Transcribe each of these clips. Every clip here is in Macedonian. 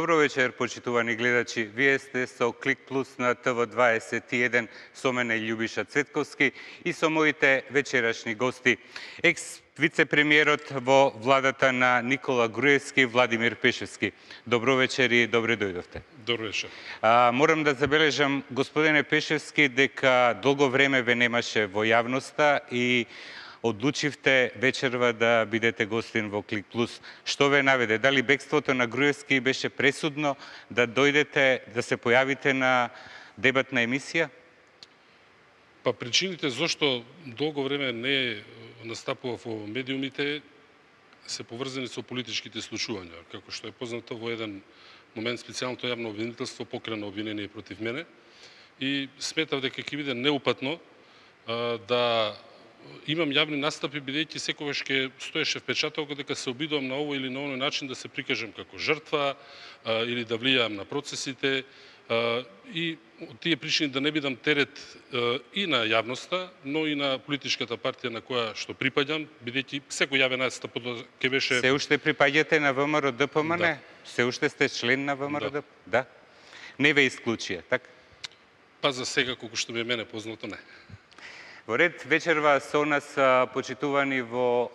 Добро вечер, почитувани гледачи. Вие сте со Клик Плюс на ТВ21 со мене Љубиша Цветковски и со моите вечерашни гости. Екс-вице-премиерот во владата на Никола Груевски, Владимир Пешевски. Добро вечер и добре дојдовте. Добро вечер. Морам да забележам, господине Пешевски, дека долго време ве немаше во јавноста и одлучивте вечерва да бидете гостин во Клик Плюс. Што ве наведе? Дали бегството на Груевски беше пресудно да дојдете, да се појавите на дебатна емисија? Па причините зошто долго време не настапував во медиумите се поврзани со политичките случувања. Како што е познато, во еден момент специјалното јавно обвинителство покрена обвинение против мене и сметав дека ќе биде неупатно да имам јавни настапи, бидејќи секогаш ќе стоеше впечаток дека се обидувам на овој или на оној начин да се прикажам како жртва или да влијаам на процесите и од тие причини да не бидам терет и на јавноста, но и на политичката партија на која што припаѓам, бидејќи секој јавен настап ќе беше... Се уште припаѓате на ВМРО ДПМН? Да. Се уште сте член на ВМРО ДПМН? Да. Не ве исклучија, така? Па за сега, колку што ми е мене познато, не. Во ред вечерва со нас почитувани во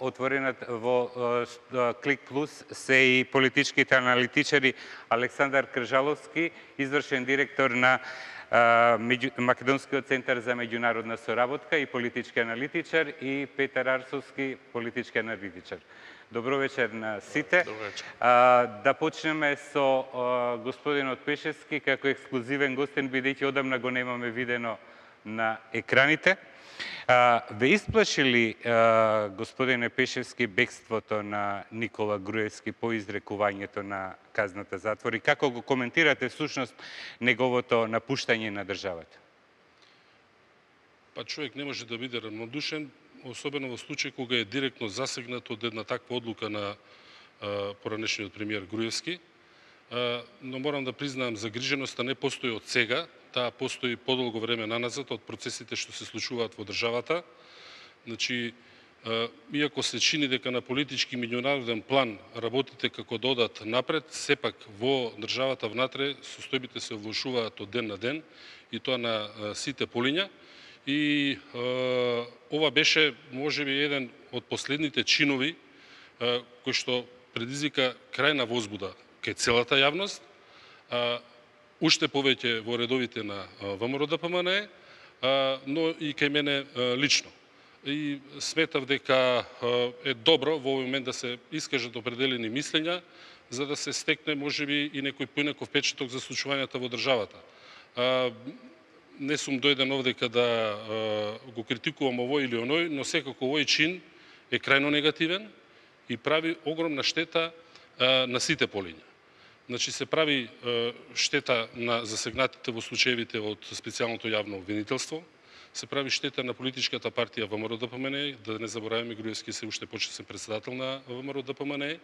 Клик Плюс се и политичките аналитичари Александар Кржаловски, извршен директор на Македонскиот центар за меѓународна соработка и политички аналитичар, и Петар Арсовски, политички аналитичар. Добро вечер на сите. Добро вечер. Да почнеме со господинот Пешевски како ексклузивен гостин, бидејќи одамна го немаме видено на екраните. Ве исплаши ли, господине Пешевски, бегството на Никола Груевски по изрекувањето на казната затвор и како го коментирате всушност неговото напуштање на државата? Па човек не може да биде равнодушен, особено во случај кога е директно засегнат од една таква одлука на поранешниот премиер Груевски. Но морам да признаам, загриженоста не постои од сега, таа постои подолго време наназад од процесите што се случуваат во државата. Значи, иако се чини дека на политички меѓународен план работите како додат напред, сепак во државата внатре состојбите се влошуваат од ден на ден и тоа на сите полиња. И ова беше можеби еден од последните чинови кој што предизвика крајна возбуда кај целата јавност, уште повеќе во редовите на ВМРО ДПМН, но и кај мене лично. И сметав дека е добро во овој момент да се искажат определени мислења, за да се стекне можеби и некој поинаков впечаток за случувањата во државата. Не сум дојден овдека да го критикувам овој или оној, но секако овој чин е крајно негативен и прави огромна штета на сите полиња. Значи се прави штета на засегнатите во случаевите од специјалното јавно обвинителство, се прави штета на политичката партија ВМРО ДПМН, да не забораваме, Груевски се уште почесен председател на ВМРО ДПМН,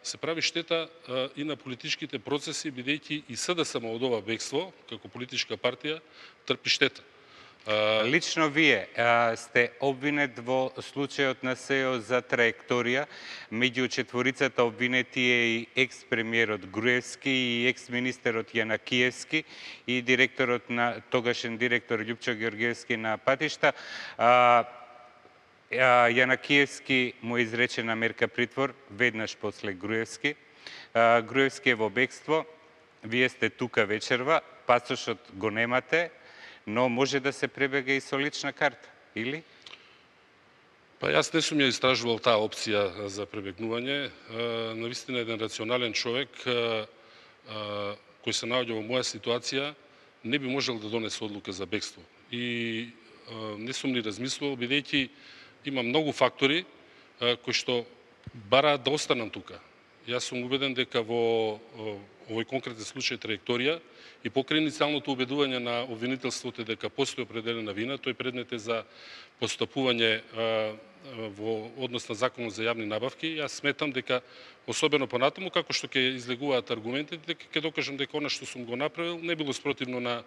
се прави штета и на политичките процеси, бидејќи и СДСМ од ова бегство, како политичка партија, трпи штета. Лично вие сте обвинет во случајот на СЕО за траекторија. Меѓу четворицата обвинети е и екс-премиерот Груевски и екс-министерот Јанакиевски и директорот на тогашен директор Љупчо Ѓорѓевски на патишта. Јанакиевски му е изречена мерка притвор веднаш после Груевски. Груевски е во бегство. Вие сте тука вечерва, пасошот го немате, но може да се пребега и со лична карта, или? Па јас не сум ја истражувал таа опција за пребегнување. Навистина еден рационален човек кој се наоѓа во моја ситуација не би можел да донесе одлука за бегство. И не сум ни размислувал, бидејќи има многу фактори кои што бараат да останам тука. Јас сум убеден дека во овој конкретен случај траекторија и покрај иницијалното убедување на обвинителството дека постои определена вина, тој предмет е за постапување во однос на Законот за јавни набавки. Јас сметам дека, особено понатаму, како што ќе излегуваат аргументите, дека ќе докажам дека она што сум го направил не било спротивно на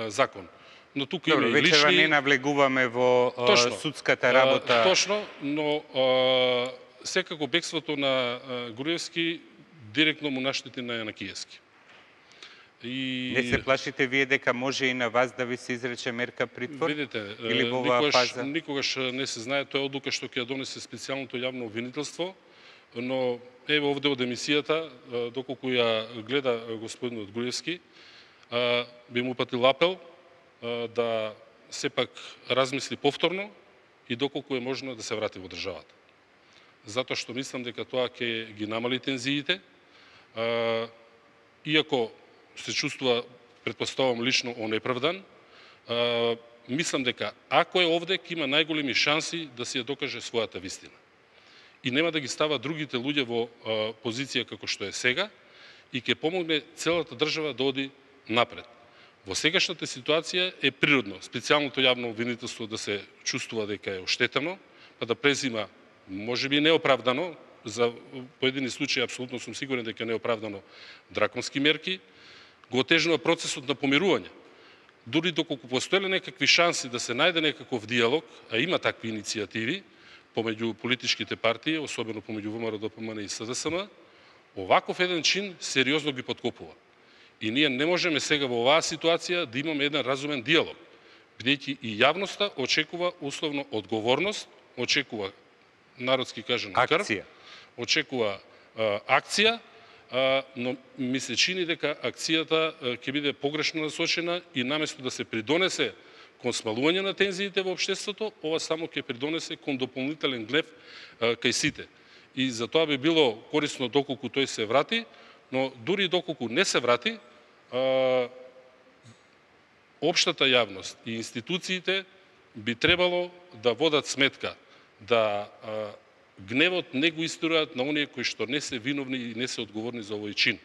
закон. Но тука има и лични... Вечерва не навлегуваме во судската работа. Точно, но секако бегството на Груевски директно му наштети на Јанакиевски. Не се плашите вие дека може и на вас да ви се изрече мерка притвор? Видите, или во оваа фаза? никогаш не се знае, тоа е одлука што ќе ја донесе специјалното јавно обвинителство, но еве овде од емисијата, доколку ја гледа господинот Груевски, би му упатил апел да сепак размисли повторно и доколку е можно да се врати во државата. Затоа што мислам дека тоа ќе ги намали тензиите, иако се чувствува, предпоставувам лично, онеправдан, мислам дека ако е овде, ќе има најголеми шанси да си ја докаже својата вистина. И нема да ги става другите луѓе во позиција како што е сега и ќе помогне целата држава да оди напред. Во сегашната ситуација е природно специјалното јавно обвинителство да се чувствува дека е оштетено, па да презима, можеби неоправдано, за поедини случаи апсолутно сум сигурен дека е неоправдано, драконски мерки, го отежнува процесот на помирување. Дури доколку постоеле некакви шанси да се најде некаков диалог, а има такви иницијативи помеѓу политичките партии, особено помеѓу ВМРО, ДПМН и СДСМ, оваков еден чин сериозно ги подкопува. И ние не можеме сега во оваа ситуација да имаме еден разумен диалог, бидејќи и јавноста очекува условно одговорност, очекува, народски кажано, крв, очекува акција, но ми се чини дека акцијата ќе биде погрешно насочена и наместо да се придонесе кон смалување на тензиите во општеството, ова само ќе придонесе кон дополнителен гнев кај сите. И за тоа би било корисно доколку тој се врати, но дури доколку не се врати, општата јавност и институциите би требало да водат сметка да гневот не го истураат на оние кои што не се виновни и не се одговорни за овој чин.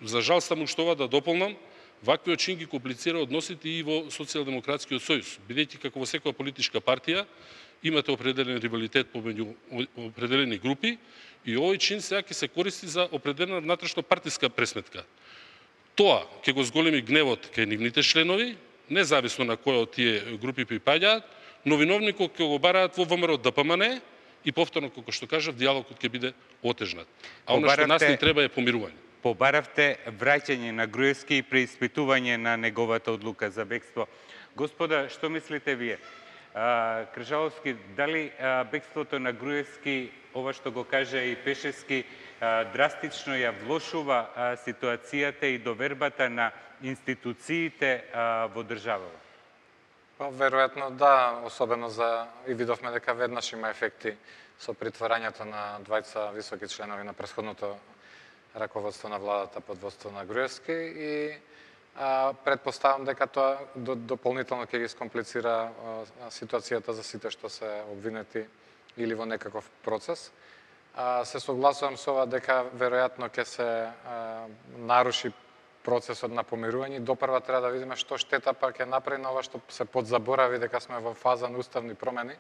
За жал само што ова да дополнам, ваквиот чин ги комплицира односите и во Социјалдемократскиот сојуз, бидејќи како во секоја политичка партија имате определен ривалитет помеѓу определени групи и овој чин сега ќе се користи за определена внатрешно партиска пресметка. Тоа ќе го зголеми гневот кај нивните членови, независно на која од тие групи припаѓаат, но виновникот ќе го бараат во ВМРО ДПМН и повторно, како што кажав, диалогот ќе биде отежнат. А оно што нас не треба е помирување. Побаравте враќање на Груевски и преиспитување на неговата одлука за бегство. Господа, што мислите вие? Кржаловски, дали бегството на Груевски, ова што го кажа и Пешевски, драстично ја влошува ситуацијата и довербата на институциите во државава? Па, веројатно да, особено и видовме дека веднаш има ефекти со притворањето на двајца високи членови на претходното раководство на владата под водство на Груевски и предпоставам дека тоа дополнително ќе ги скомплицира ситуацијата за сите што се обвинети или во некаков процес. Се согласувам со ова дека веројатно ќе се наруши процесот на помирување. Допрва треба да видиме што штета па ќе направи на ова што се подзаборави дека сме во фаза на уставни промени.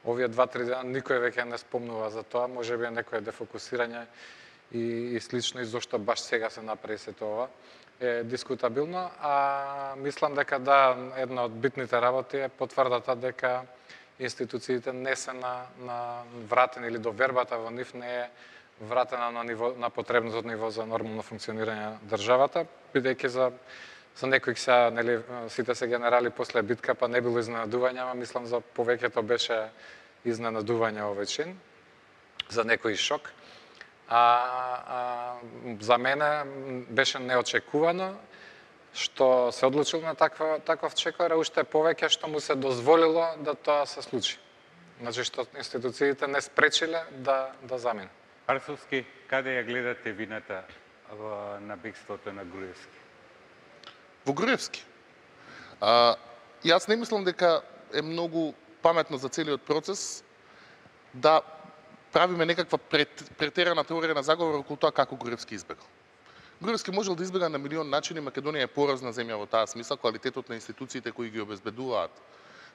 Овие 2-3 дена никој веќе не спомнува за тоа, можеби некое дефокусирање и слично, и зошто баш сега се направи сето ова е дискутабилно, а мислам дека да, една од битните работи е потврдата дека институциите не се на вратени или довербата во нив не е вратена на потребното ниво за нормално функционирање на државата, бидејќи за некои сега, нели, сите се генерали после битка, па не било изненадување, ама мислам за повеќето беше изненадување овој чин, за некој шок. За мене беше неочекувано што се одлучил на таков чекор, а уште повеќе што му се дозволило да тоа се случи. Значи што институциите не спречиле да замине. Арсовски, каде ја гледате вината на бегството на Груевски? Во Груевски? Јас не мислам дека е многу паметно за целиот процес да правиме некаква претерана теорија на заговор околу тоа како Груевски избегал. Груевски можел да избега на милион начини, Македонија е поразна земја во таа смисла, квалитетот на институциите кои ги обезбедуваат.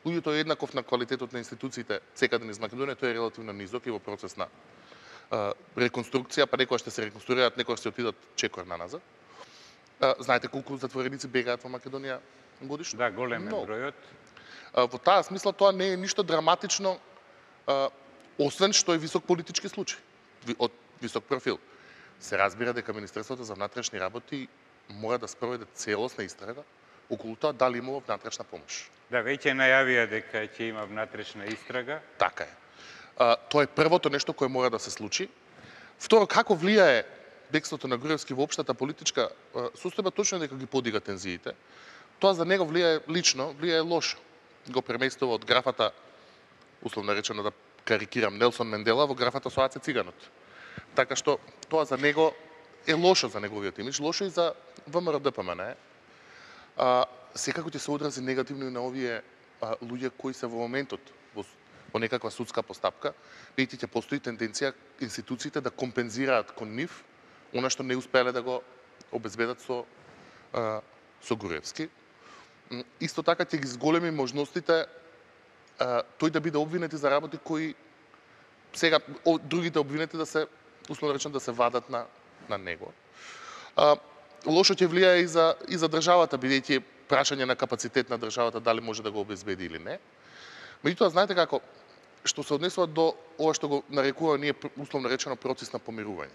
Луѓето е еднаков на квалитетот на институциите секаде низ Македонија, тој е релативно низок и во процес на реконструкција, па некоја ще се реконструираат, некоја ще отидат чекор на назад. Знаете колку затвореници бегаат во Македонија годишно? Да, голем е бројот. Во таа смисла тоа не е ништо драматично, освен што е висок политички случај, од висок профил. се разбира дека Министерството за внатрешни работи мора да спроведе целосна истрага околу тоа дали имало внатрешна помош. Да, веќе најавија дека ќе има внатрешна истрага. Така е. Тоа е првото нешто кое мора да се случи. Второ, како влијае бегството на Груевски во општата политичка состојба, точно дека ги подига тензиите. Тоа за него влијае лично, влијае лошо. Го преместува од графата, условно речено да карикирам, Нелсон Мендела во графата со Аце Циганот. Така што тоа за него е лошо за неговиот имидж, лошо и за ВМРО-ДПМН. Секако ќе се одрази негативно и на овие луѓе кои се во моментот во некаква судска постапка, бидејќи ќе постои тенденција институциите да компензираат кон нив она што не успеале да го обезбедат со Груевски. Исто така ќе ги зголеми можностите тој да биде обвинет за работи кои сега другите обвинети да се условно речено да се вадат на него. Лошо ќе влијае и за државата, бидејќи прашање на капацитет на државата дали може да го обезбеди или не. Меѓутоа, знаете како, што се однесува до ова што го нарекува ние условно речено процес на помирување.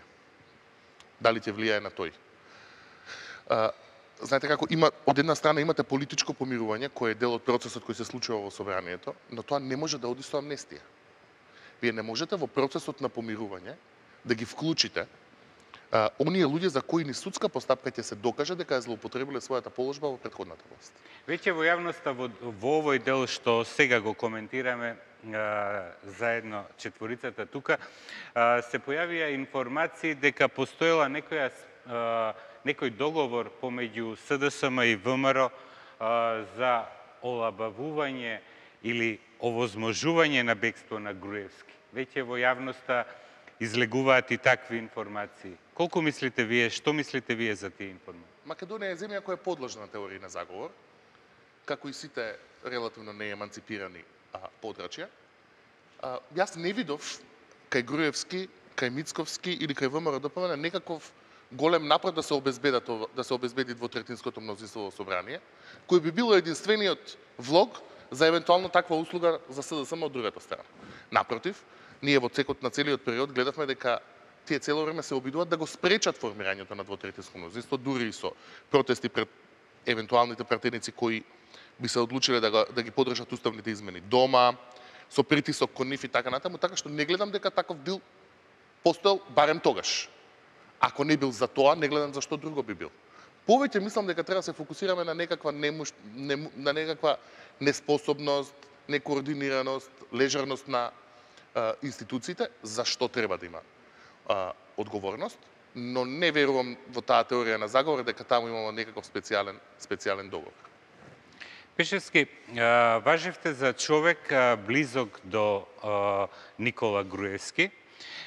Дали ќе влијае на тој? Знаете како, од една страна имате политичко помирување, кој е дел од процесот кој се случува во собранието, но тоа не може да оди со амнестија. Вие не можете во процесот на помирување да ги вклучите оние луѓе за кои ни судска постапка ќе се докаже дека ја злоупотребиле својата положба во претходната власт. Веќе во јавноста во овој дел што сега го коментираме заедно четворицата тука, се појавија информации дека постоела некој договор помеѓу СДСМ и ВМРО за олабавување или овозможување на бегство на Груевски. Веќе во јавноста излегуваат и такви информации. Колку мислите вие, што мислите вие за тие информации? Македонија е земја која е подложна на теории на заговор, како и сите релативно нееманципирани подрачја. Јас не видов кај Груевски, кај Мицковски или кај ВМРО-ДПМН некаков голем напор да се обезбеди двотретинското мнозинство во собрание, кој би било единствениот влог за евентуално таква услуга за СДСМ од другата страна. Напротив, ние во цекот на целиот период гледавме дека тие цело време се обидуваат да го спречат формирањето на двотретинско мнозинство, дури и со протести пред евентуалните пратеници кои би се одлучиле да ги поддржат уставните измени дома, со притисок кон нив и така натаму, така што не гледам дека таков бил постоел барем тогаш. Ако не бил за тоа, не гледам зашто друго би бил. Повеќе мислам дека треба да се фокусираме на некаква на некаква неспособност, некоординираност, лежерност на институциите, зашто треба да има одговорност, но не верувам во таа теорија на заговор дека таму имamo некаков специјален договор. Пешевски, важевте за човек близок до Никола Груевски.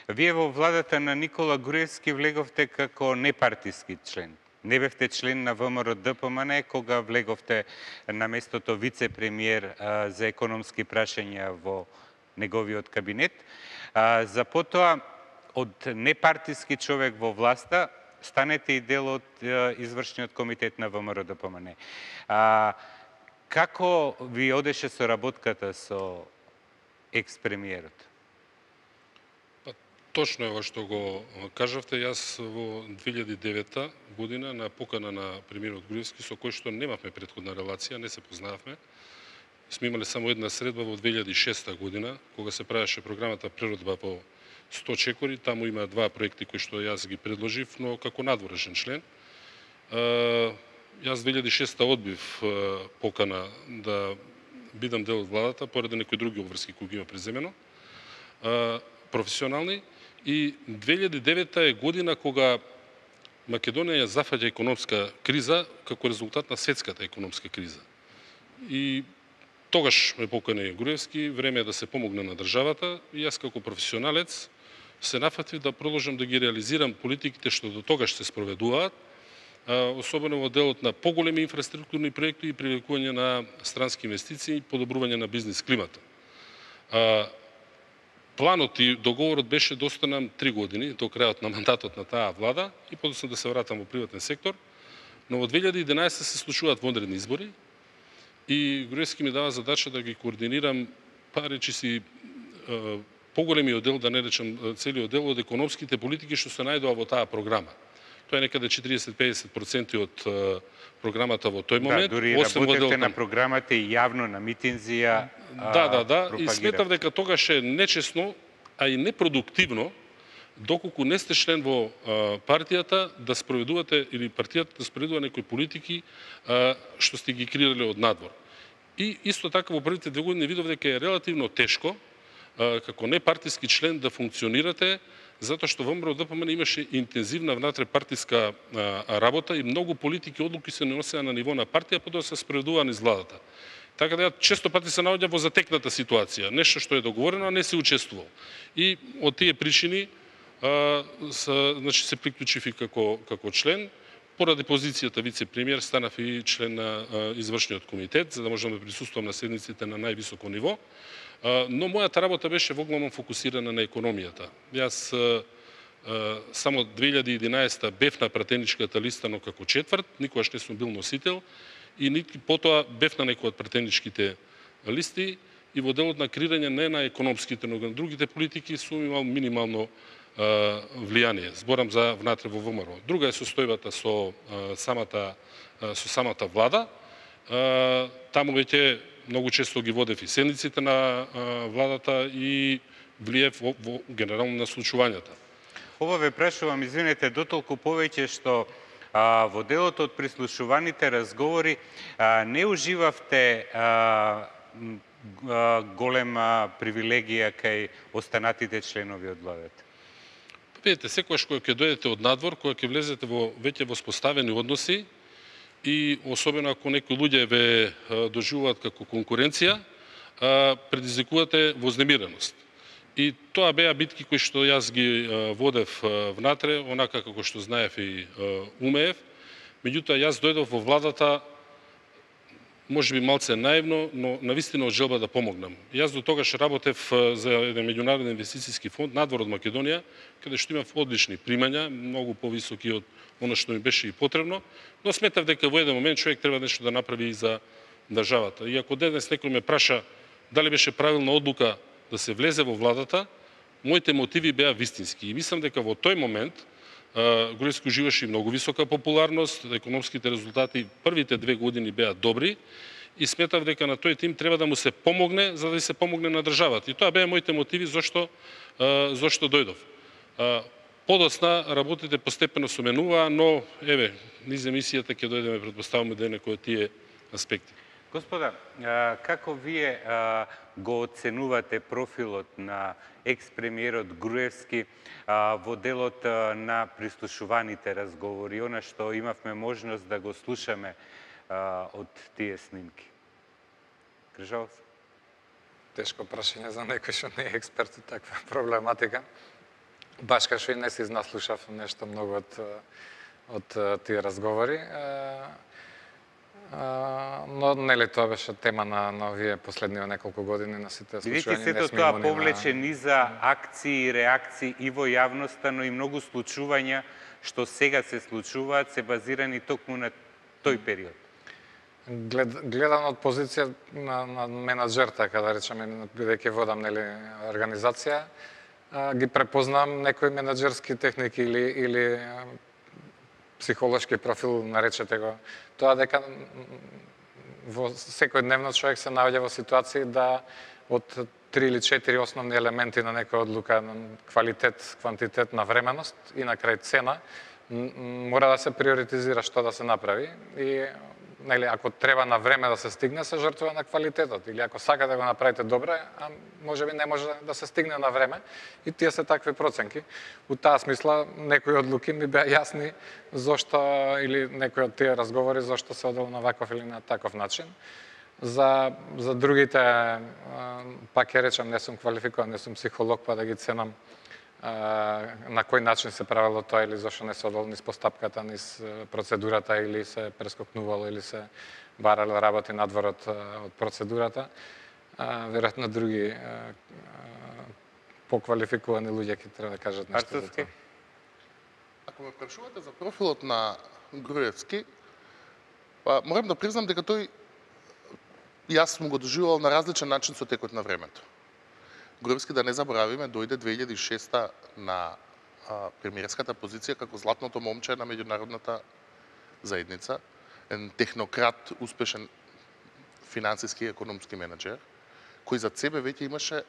Вие во владата на Никола Груевски влеговте како непартиски член. Не бевте член на ВМРО-ДПМН кога влеговте на местото вице-премиер за економски прашања во неговиот кабинет. За потоа, од непартиски човек во власта, станете и дел од извршниот комитет на ВМРО-ДПМН. Како ви одеше соработката со екс-премиерот? Точно е ова што го кажавте. Јас во 2009 година на покана на премиерот Груевски, со кој што немавме претходна релација, не се познававме, сме имале само една средба во 2006 година, кога се правеше програмата Природба во 100 чекори. Таму има два проекти кои што јас ги предложив, но како надворешен член. Јас 2006 одбив покана да бидам дел од владата, поради некои други обврски кои ги има преземено, професионални. И 2009 е година кога Македонија ја зафаќа економска криза како резултат на светската економска криза. И тогаш ме покани Груевски, време е да се помогне на државата, и јас како професионалец се нафатив да продолжам да ги реализирам политиките што до тогаш се спроведуваат, особено во делот на поголеми инфраструктурни проекти и привлекување на странски инвестиции и подобрување на бизнис климата. Планот и договорот беше да останам 3 години до крајот на мандатот на таа влада и подоцна да се вратам во приватен сектор, но во 2011 се случуваат вонредни избори и Груевски ми дава задача да ги координирам, речиси, поголемиот дел, да не речем целиот дел од економските политики што се најдоа во таа програма. Тоа е некаде 40-50% од програмата во тој момент. Да, дури работевте на програмата и јавно на митинзија. Да. И сметав дека тогаш е нечесно, а и непродуктивно, доколку не сте член во партијата, да спроведувате, или партијата да спроведува некои политики што сте ги креирале од надвор. И исто така во првите 2 години видов дека е релативно тешко како непартиски член да функционирате, затоа што во МРО-ДПМН имаше интензивна внатре-партиска работа и многу политики одлуки се носеа на ниво на партија, потоа се спроведуваа низ владата. Така да ја често пати се наоѓа во затекната ситуација, нешто што е договорено, а не се учествувал. И од тие причини се приклучив и како член. Поради позицијата вице-премиер станав и член на извршниот комитет, за да можам да присуствувам на седниците на највисоко ниво. Но мојата работа беше воглавно фокусирана на економијата. Јас само 2011 бев на пратеничката листа, но како четврт, никогаш не сум бил носител, и потоа бев на некои од пратеничките листи и во делот на креирање не на економските, но на другите политики сум имал минимално влијание. Зборам за внатре во ВМРО. Друга е состојбата со самата влада. Таму веќе многу често ги водев и седниците на владата и влиев во генерално на случувањата. Ова ве прашувам, извинете, дотолку повеќе што во делот од прислушуваните разговори не уживавте голема привилегија кај останатите членови од владата. Видете, секогаш кога ќе дојдете од надвор, кога ќе влезете во веќе воспоставени односи и особено ако некои луѓе ве доживуваат како конкуренција, предизвикувате вознемиреност. И тоа беа битки кои што јас ги водев внатре, онака како што знаев и умеев. Меѓутоа јас дојдов во владата можеби малце наивно, но навистина од желба да помогнам. Јас до тогаш работев за еден меѓународен инвестицијски фонд надвор од Македонија, каде што имав одлични примања, многу повисоки од она што ми беше и потребно, но сметав дека во еден момент човек треба нешто да направи и за државата. И ако денес некој ме праша дали беше правилна одлука да се влезе во владата, моите мотиви беа вистински. И мислам дека во тој момент Груевски уживаше многу висока популарност, економските резултати првите 2 години беа добри и сметав дека на тој тим треба да му се помогне за да се помогне на државата. И тоа беа моите мотиви зошто дојдов. Подосна работите постепено се менуваа, но еве, низ емисијата ќе дојдеме претпоставуваме до некои од тие аспекти. Господа, како вие го оценувате профилот на екс-премиерот Груевски во делот на прислушуваните разговори, она што имавме можност да го слушаме од тие снимки? Кржалов? Тешко прашање за некој што не е експерт од таква проблематика. Баш кај што и не си наслушав нешто многу од тие разговори. Но нели тоа беше тема на овие последниве неколку години на сите случаи. Видите, сето тоа повлече низа акции и реакции и во јавноста, но и многу случувања што сега се случуваат се базирани токму на тој период. Гледан од позиција на менаџер, така да речеме, бидејќи водам нели организација, ги препознам некои менаџерски техники или психолошки профил, наречете го, тоа дека во секојдневно човек се наоѓа во ситуации да од 3 или 4 основни елементи на некоја одлука, квалитет, квантитет, навременост и на крај цена, мора да се приоритизира што да се направи и нели ако треба на време да се стигне, се жртвува на квалитетот, или ако сака да го направите добре, а можеби не може да се стигне на време, и тие се такви проценки. У таа смисла некои одлуки ми беа јасни зошто, или некои од тие разговори зошто се одело на ваков или на таков начин. За другите, пак ќе речам, не сум квалификуван, не сум психолог, па да ги ценам на кој начин се правило тоа или зашто не се одело низ постапката, низ процедурата или се прескокнувало или се барале работи надвор од процедурата. Веројатно други поквалификувани луѓе ќе треба да кажат нешто за тоа. Ако ме прашувате за профилот на Груевски, морам да признам дека тој јас сум го доживувал на различен начин со текот на времето. Груевски, да не заборавиме, дојде 2006 на премиерската позиција како златното момче на меѓународната заедница, еден технократ, успешен финансиски и економски менеджер, кој зад себе веќе имаше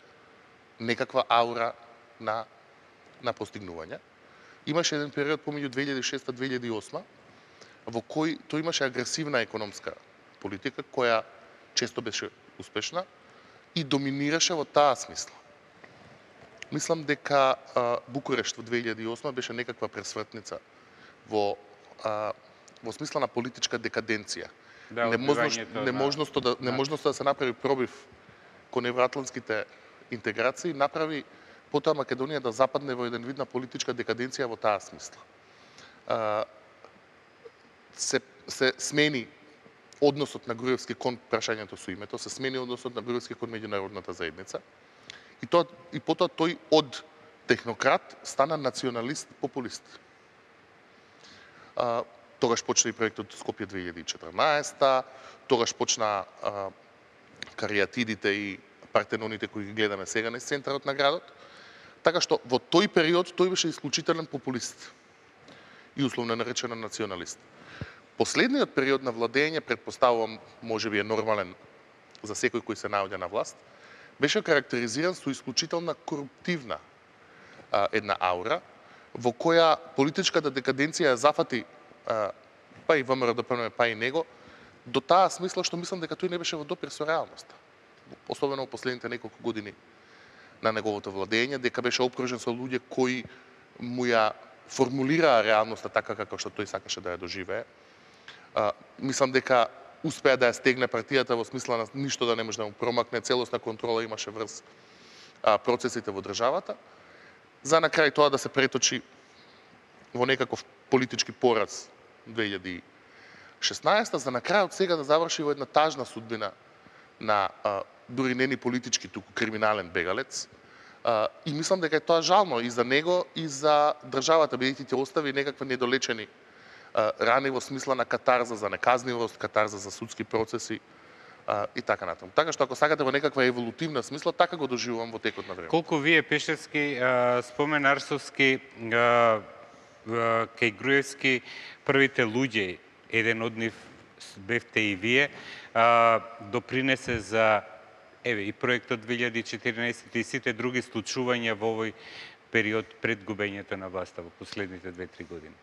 некаква аура на постигнување. Имаше еден период помеѓу 2006-2008 во кој тој имаше агресивна економска политика која често беше успешна и доминираше во таа смисла. Мислам дека Букурешт во 2008 беше некаква пресвртница во смисла на политичка декаденција. Да, неможноста да се направи пробив кон евроатлантските интеграции направи потоа Македонија да западне во еден вид на политичка декаденција во таа смисла. Се смени односот на Груевски кон прашањето со името, се смени односот на Груевски кон меѓународната заедница и потоа тој од технократ стана националист-популист. Тогаш почна и проектот Скопје 2014, тогаш почна кариатидите и партеноните кои ги гледаме сега низ центарот на градот. Така што во тој период тој беше исклучителен популист и условно наречено националист. Последниот период на владење, претпоставувам, можеби е нормален за секој кој се наоѓа на власт, беше карактеризиран со исклучителна коруптивна една аура, во која политичката декаденција зафати па и ВМРО-ДПМНЕ, па и него, до таа смисла што мислам дека тој не беше во допир со реалноста. Особено во последните неколку години на неговото владење, дека беше обкружен со луѓе кои му ја формулираа реалноста така како што тој сакаше да ја доживее. Мислам дека успеа да ја стегне партијата во смисла на ништо да не може да му промакне, целосна контрола имаше врз процесите во државата, за на крај тоа да се преточи во некаков политички пораз 2016, за на крај од сега да заврши во една тажна судбина на дури не ни политички, туку криминален бегалец. И мислам дека е тоа жално и за него и за државата, бидејќи ќе остави некакви недолечени рани во смисла на катарза за неказнивост, катарза за судски процеси и така натаму. Така што ако сакате во некаква еволутивна смисла, така го доживувам во текот на време. Колку вие Пешевски, спомен Арсовски, кај Груевски, првите луѓе, еден од нив бевте и вие, допринесе за и проектот 2014 и сите други случувања во овој период пред губењето на власта во последните 2-3 години.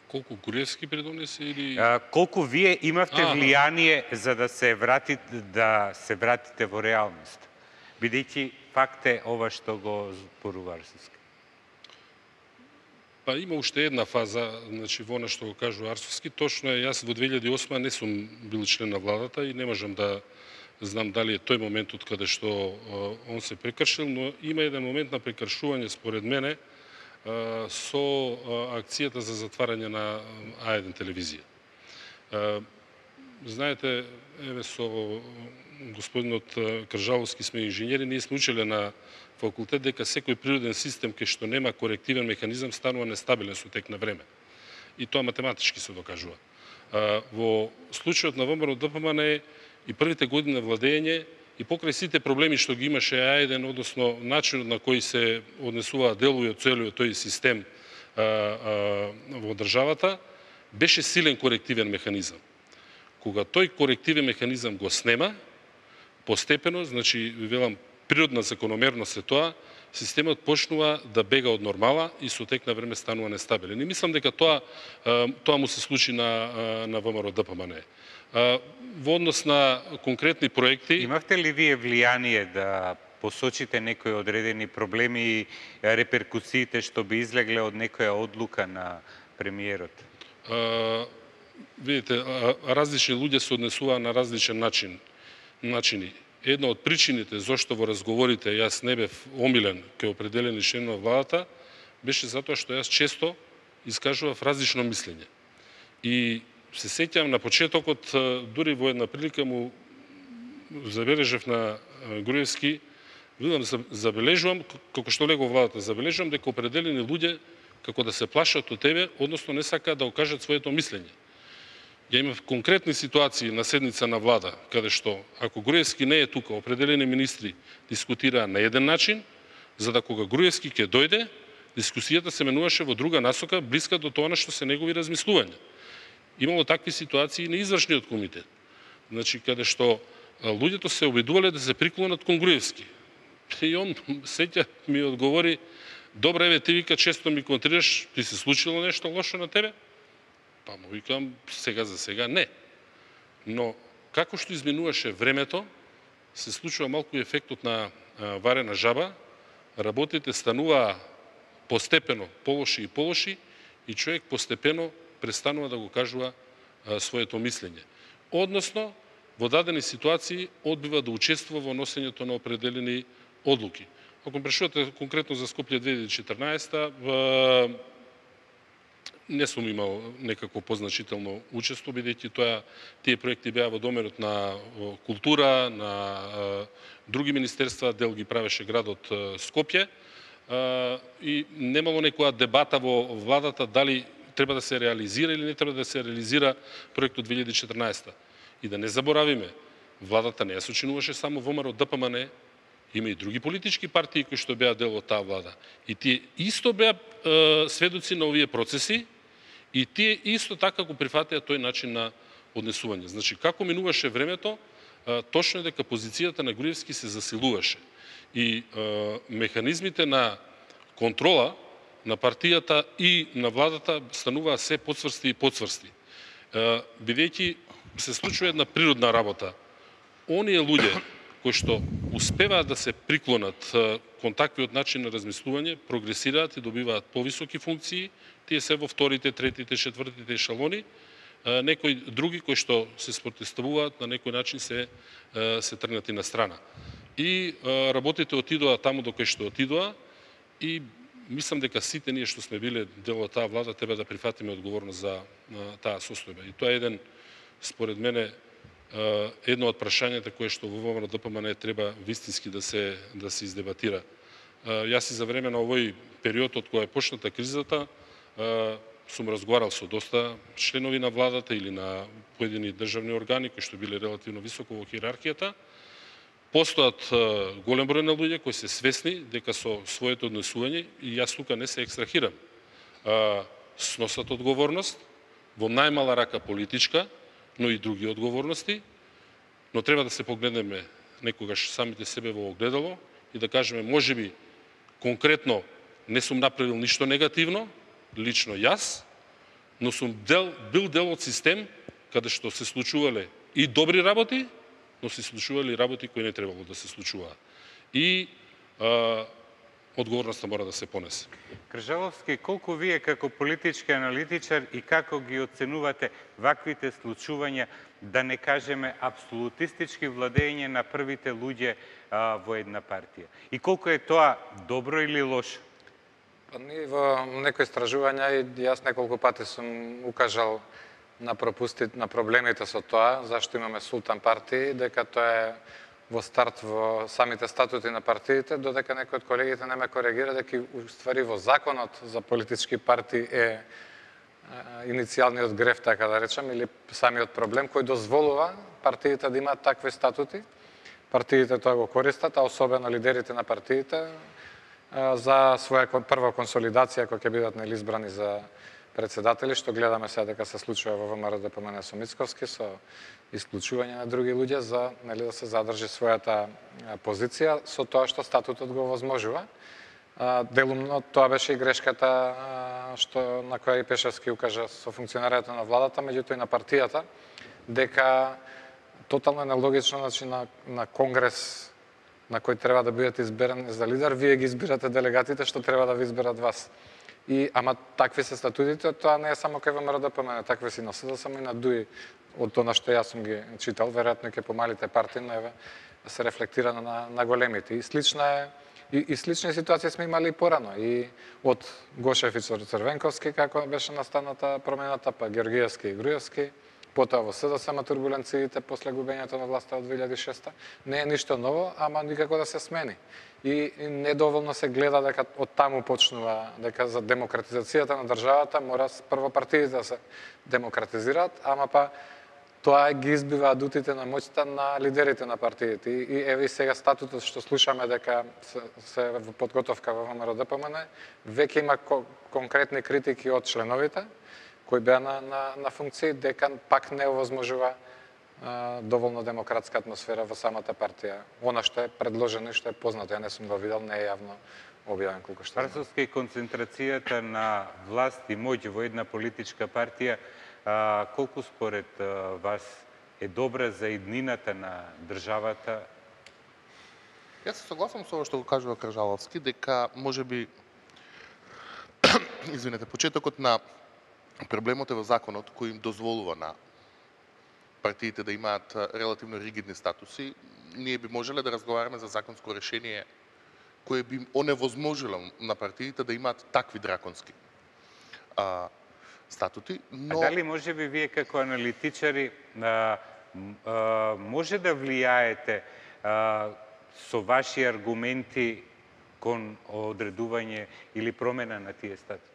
Колку Груевски придонесе или колку вие имавте влијание за да се вратите во реалност? Бидејќи факт е ова што го зборува Арсовски. Па има уште една фаза, значи во она што го кажува Арсовски, точно е, јас во 2008 не сум бил член на владата и не можам да знам дали е тој моментот каде што он се прекршил, но има еден момент на прекршување според мене со акцијата за затварање на А1 телевизија. Знаете, еве со господинот Кржаловски сме инженери, ние сме учеле на факултет дека секој природен систем кај што нема корективен механизам станува нестабилен со тек на време. И тоа математички се докажува. Во случајот на ВМРО-ДПМНЕ и првите години на владење и покрај сите проблеми што ги имаше А1, односно начинот на кој се однесуваа делови од целиот тој систем во државата, беше силен корективен механизам. Кога тој корективен механизам го снема, постепено, значи, велам, природна закономерност е тоа, системот почнува да бега од нормала и со тек на време станува нестабилен. И мислам дека тоа му се случи на ВМРО-ДПМНЕ. Во однос на конкретни проекти... Имавте ли вие влијание да посочите некои одредени проблеми и реперкусиите што би излегле од некоја одлука на премиерот? Видите, различни луѓе се однесуваа на различен начини. Една од причините зашто во разговорите јас не бев омилен кај определени членови на владата беше затоа што јас често искажував различно мислење. И се сеќавам на почетокот, дури во една прилика му забележав на Груевски, забележувам, како што лего владата, забележувам дека определени луѓе како да се плашат од тебе, односно не сакаат да окажат своето мислење. Ја имав конкретни ситуации на седница на влада, каде што, ако Груевски не е тука, определени министри дискутираа на еден начин, за да кога Груевски ќе дојде, дискусијата се менуваше во друга насока, блиска до тоа на што се негови размислувања. Имало такви ситуации на извршниот комитет. Значи, каде што луѓето се обидувале да се приклонат кон Груевски. И он сеќа ми одговори: добре, еве, ти вика често ми контрираш, ти се случило нешто лошо на тебе? Па му викам, сега за сега не. Но како што изминуваше времето, се случува малку ефектот на варена жаба, работите стануваа постепено полоши и полоши и човек постепено престанува да го кажува своето мислење. Односно, во дадени ситуации одбива да учествува во носењето на определени одлуки. Ако прашувате конкретно за Скопје 2014, не сум имал некако позначително учество, бидејќи тие проекти беа во доменот на култура, на други министерства, дел ги правеше градот Скопје, и немало некоја дебата во владата дали треба да се реализира или не треба да се реализира проектот 2014. И да не заборавиме, владата не ја сочинуваше само ВМРО ДПМН, има и други политички партии кои што беа дел од таа влада. И тие исто беа сведоци на овие процеси, и тие исто така го прифатеа тој начин на однесување. Значи, како минуваше времето, точно е дека позицијата на Груевски се засилуваше. И механизмите на контрола на партијата и на владата стануваа се подсврсти и подсврсти. Бидејќи се случува една природна работа. Оние луѓе кои што успеваат да се приклонат кон таквиот начин на размислување, прогресираат и добиваат повисоки функции, тие се во вторите, третите, четвртите ешелони. Некои други кои што се спротивставуваат на некој начин се тргнати на страна. И работите отидоа таму до кај што отидоа, и мислам дека сите ние што сме биле дел од таа влада треба да прифатиме одговорност за таа состојба. И тоа е еден, според мене, едно од прашањата кое што во ВМРО ДПМН треба вистински да се издебатира. Јас и за време на овој период од кога е почната кризата сум разговарал со доста членови на владата или на поедини државни органи кои што биле релативно високо во хиерархијата. Постојат голем број на луѓе кои се свесни дека со своето однесување, и јас тука не се екстрахирам, сносат одговорност, во најмала рака политичка, но и други одговорности, но треба да се погледнеме некогаш самите себе во огледало и да кажеме, можеби конкретно не сум направил ништо негативно, лично јас, но сум бил дел од систем каде што се случувале и добри работи, но се случували работи кои не требало да се случуваат. И одговорноста мора да се понесе. Кржаловски, колку вие како политички аналитичар и како ги оценувате ваквите случувања, да не кажеме апсолутистички владење на првите луѓе во една партија? И колку е тоа добро или лошо? Па ние во некои истражувања, и јас неколку пати сум укажал на пропустите, на проблемите со тоа, зашто имаме султан партии, дека тоа е во старт во самите статути на партиите, додека некои од колегите не ме коригира дека уствари во законот за политички партии е иницијалниот греф, така да речем, или самиот проблем кој дозволува партиите да имаат такви статути. Партиите тоа го користат, а особено лидерите на партиите, за своја прва консолидација кога ќе бидат избрани за председатели, што гледаме сега дека се случува во ВМРО ДПМН со Мицковски, со исклучување на други луѓе за да се задржи својата позиција со тоа што статутот го возможува. Делумно тоа беше и грешката што на која и Пешевски укажа со функционерањето на владата, меѓутоа и на партијата, дека тотално нелогично, значи на конгрес на кој треба да бидете изберани за лидер, вие ги избирате делегатите што треба да ви изберат вас. Ама такви се статутите, тоа не е само кај ВМРО ДПМН, такви си на СДСМ и на ДУИ, од тоа што јас сум ги читал, веројатно ќе помалите партии, но еве се рефлектира на големите. И слични ситуации сме имали и порано, и од Гошев и Црвенковски, како беше настаната промената, па Георгиевски и Груевски, потоа во СДСМ турбуленциите после губењето на власта од 2006, не е ништо ново, ама никако да се смени. И недоволно се гледа дека од таму почнува, дека за демократизацијата на државата мора прво партиите да се демократизираат, ама па тоа ги избива адутите на моќта на лидерите на партиите. И еве сега статутот што слушаме дека се во подготовка во ВМРО-ДПМН, веќе има конкретни критики од членовите кои беа на функции, дека пак не овозможува доволно демократска атмосфера во самата партија. Она што е предложено и што е познато, ја не сум го видел, не е јавно објавен колку што. Врсовска и концентрацијата на власт и моќ во една политичка партија, колку според вас е добра за иднината на државата? Јас се согласам со ова што го кажува Кржаловски, дека можеби почетокот на проблемот е во законот кој им дозволува на партиите да имаат релативно ригидни статуси. Ние би можеле да разговараме за законско решение кое би оневозможило на партиите да имаат такви драконски статути, но... А дали може би вие како аналитичари може да влијаете со ваши аргументи кон одредување или промена на тие статути?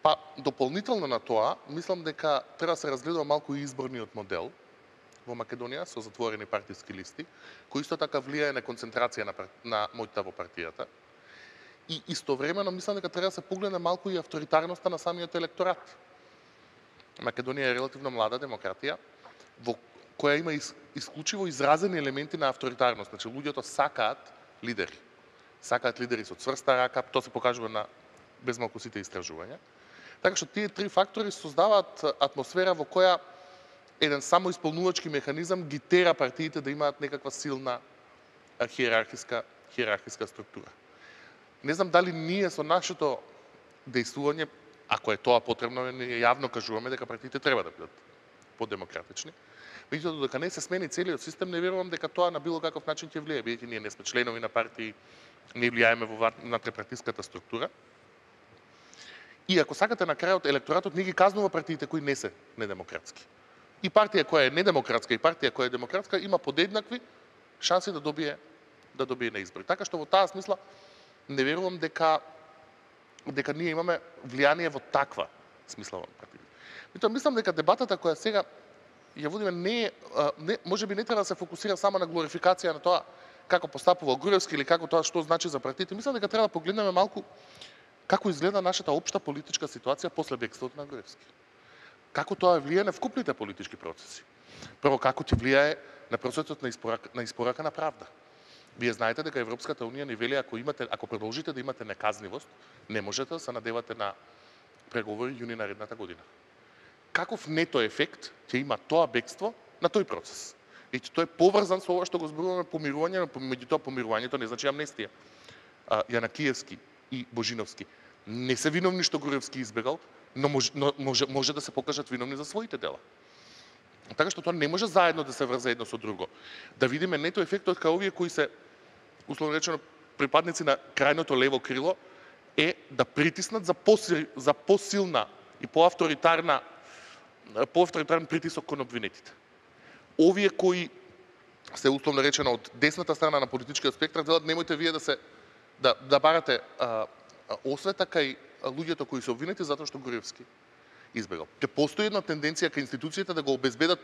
Па, дополнително на тоа, мислам дека треба да се разгледува малку и изборниот модел во Македонија со затворени партиски листи, кој исто така влијае на концентрација на моќта во партијата. И истовремено мислам дека треба да се погледне малку и авторитарноста на самиот електорат. Македонија е релативно млада демократија, во која има исклучиво изразени елементи на авторитарност. Значи, луѓето сакаат лидери. Сакаат лидери со цврста рака, тоа се покажува на безмалку сите истражувања. Така што тие три фактори создаваат атмосфера во која еден самоисполнувачки механизам ги тера партиите да имаат некаква силна хиерархиска структура. Не знам дали ние со нашето дејствување, ако е тоа потребно, ние јавно кажуваме дека партиите треба да бидат подемократични. Меѓутоа, додека не се смени целиот систем, не верувам дека тоа на било каков начин ќе влијае, бидејќи ние не сме членови на партии, не влијаеме во внатре-партиската структура. И ако сакате на крајот, електоратот не ги казнува партиите кои не се недемократски. И партија која е недемократска и партија која е демократска има подеднакви шанси да добие на избори. Така што во таа смисла не верувам дека ние имаме влијание во таква смисла во партиите. Меѓутоа мислам дека дебатата која сега ја водиме можеби не треба да се фокусира само на глорификација на тоа како постапува Груевски или како тоа што значи за партиите. Мислам дека треба да погледнеме малку како изгледа нашата општа политичка ситуација после бегството на Груевски. Како тоа влијае на вкупните политички процеси. Прво, како ти влијае на процесот на испорака на правда. Вие знаете дека Европската унија ни вели ако продолжите да имате неказнивост, не можете да се надевате на преговори јуни наредната година. Каков нето ефект ќе има тоа бегство на тој процес? И тој е поврзан со ова што го зборуваме помирување, меѓутоа помирувањето не значи амнестија. Јанакиевски и Божиновски не се виновни што Груевски избегал, но може да се покажат виновни за своите дела. Така што тоа не може заедно да се врзе едно со друго. Да видиме нето ефектот кај овие кои се условно речено припадници на крајното лево крило е да притиснат за посилна и поавторитарен притисок кон обвинетите. Овие кои се условно речено од десната страна на политичкиот спектар велат немојте вие да барате освета кај луѓето кои се обвинети затоа што Груевски избегал. Ќе постои една тенденција кај институциите да го обезбедат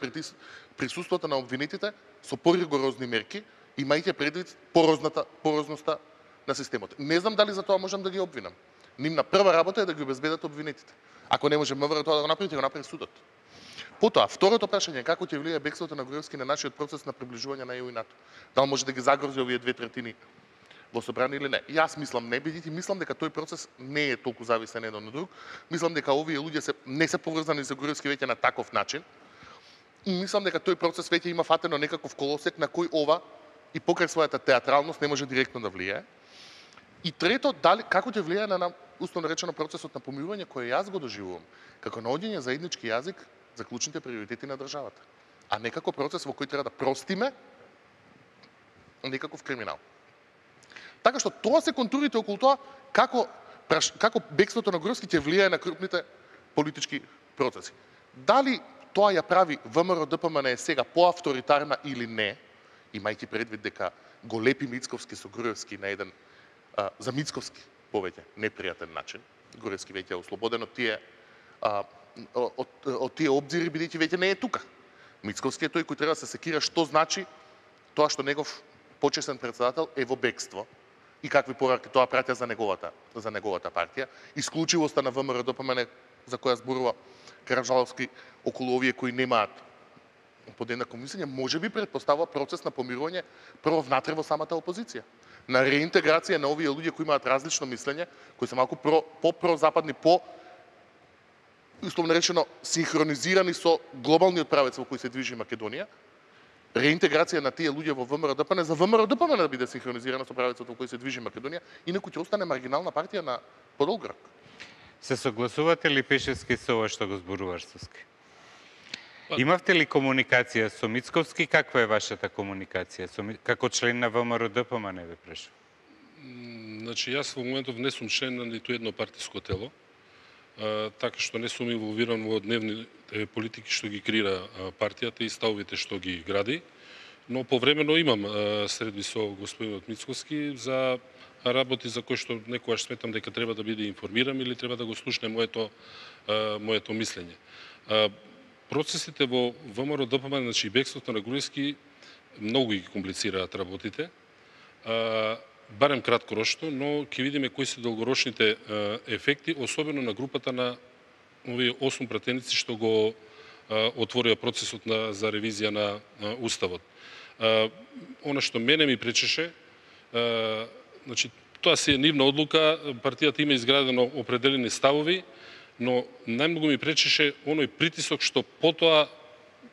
присуството на обвинетите со поригорозни мерки, имајќи предвид порозноста на системот. Не знам дали за тоа можам да ги обвинам. Нивна прва работа е да ги обезбедат обвинетите. Ако не може МВР тоа да го направи, ќе го направи судот. Потоа, второто прашање е како ќе влијае бегството на Груевски на нашиот процес на приближување на ЕУ и НАТО. Дали може да ги загрози овие 2/3 во собрание или не? Јас мислам не, бидејќи мислам дека тој процес не е толку зависен еден од друг. Мислам дека овие луѓе не се поврзани со Груевски веќе на таков начин. И мислам дека тој процес веќе има фатено некаков колосек на кој ова и покрај својата театралност не може директно да влијае. И трето, како ќе влијае на условно речено процесот на помирување кој јас го доживувам како наоѓање заеднички јазик за клучните приоритети на државата, а не како процес во кој треба да простиме некаков криминал. Така што тоа се контурите околу тоа како бегството на Груевски ќе влијае на крупните политички процеси. Дали тоа ја прави ВМРО ДПМН сега поавторитарна или не, имајќи предвид дека го лепи Мицковски со Груевски на еден за Мицковски повеќе непријатен начин. Груевски веќе е ослободен од тие обзири, бидејќи веќе не е тука. Мицковски е тој кој треба да се секира што значи тоа што негов почесен председател е во бегство и какви пораки тоа праќа за неговата партија. Исклучивоста на ВМРО ДПМН за која зборува Караджаловски околу овие кои немаат подеднакво мислење, може би предпоставува процес на помирување прво внатре во самата опозиција. На реинтеграција на овие луѓе кои имаат различно мислење, кои се малку по-прозападни, условно речено синхронизирани со глобалниот правец во кој се движи Македонија, реинтеграција на тие луѓе во ВМРО ДПМН, за ВМРО ДПМН да биде синхронизирано со правецот во кој се движи Македонија, инаку ќе остане маргинална партија на подолг рок. Се согласувате ли Пешевски со ова што го зборува Арцовски? Имавте ли комуникација со Мицковски? Каква е вашата комуникација како член на ВМРО ДПМН, ве прашувам? Значи, јас во моментов не сум член на ниту едно партиско тело, така што не сум инволвиран во дневните политики што ги креира партијата и ставовите што ги гради, но повремено имам средби со господинот Мицковски за работи за кои што некогаш сметам дека треба да биде информиран или треба да го слушне моето мислење. Процесите во ВМРО ДПМН, значи бегството на Груевски, многу ги комплицираат работите, барем краткорочно, но ќе видиме кои се долгорочните ефекти, особено на групата на овие 8 пратеници што го отворија процесот за ревизија на Уставот. Она што мене ми пречеше, значи, тоа си е нивна одлука, партијата има изградено определени ставови, но најмногу ми пречеше оној притисок што потоа,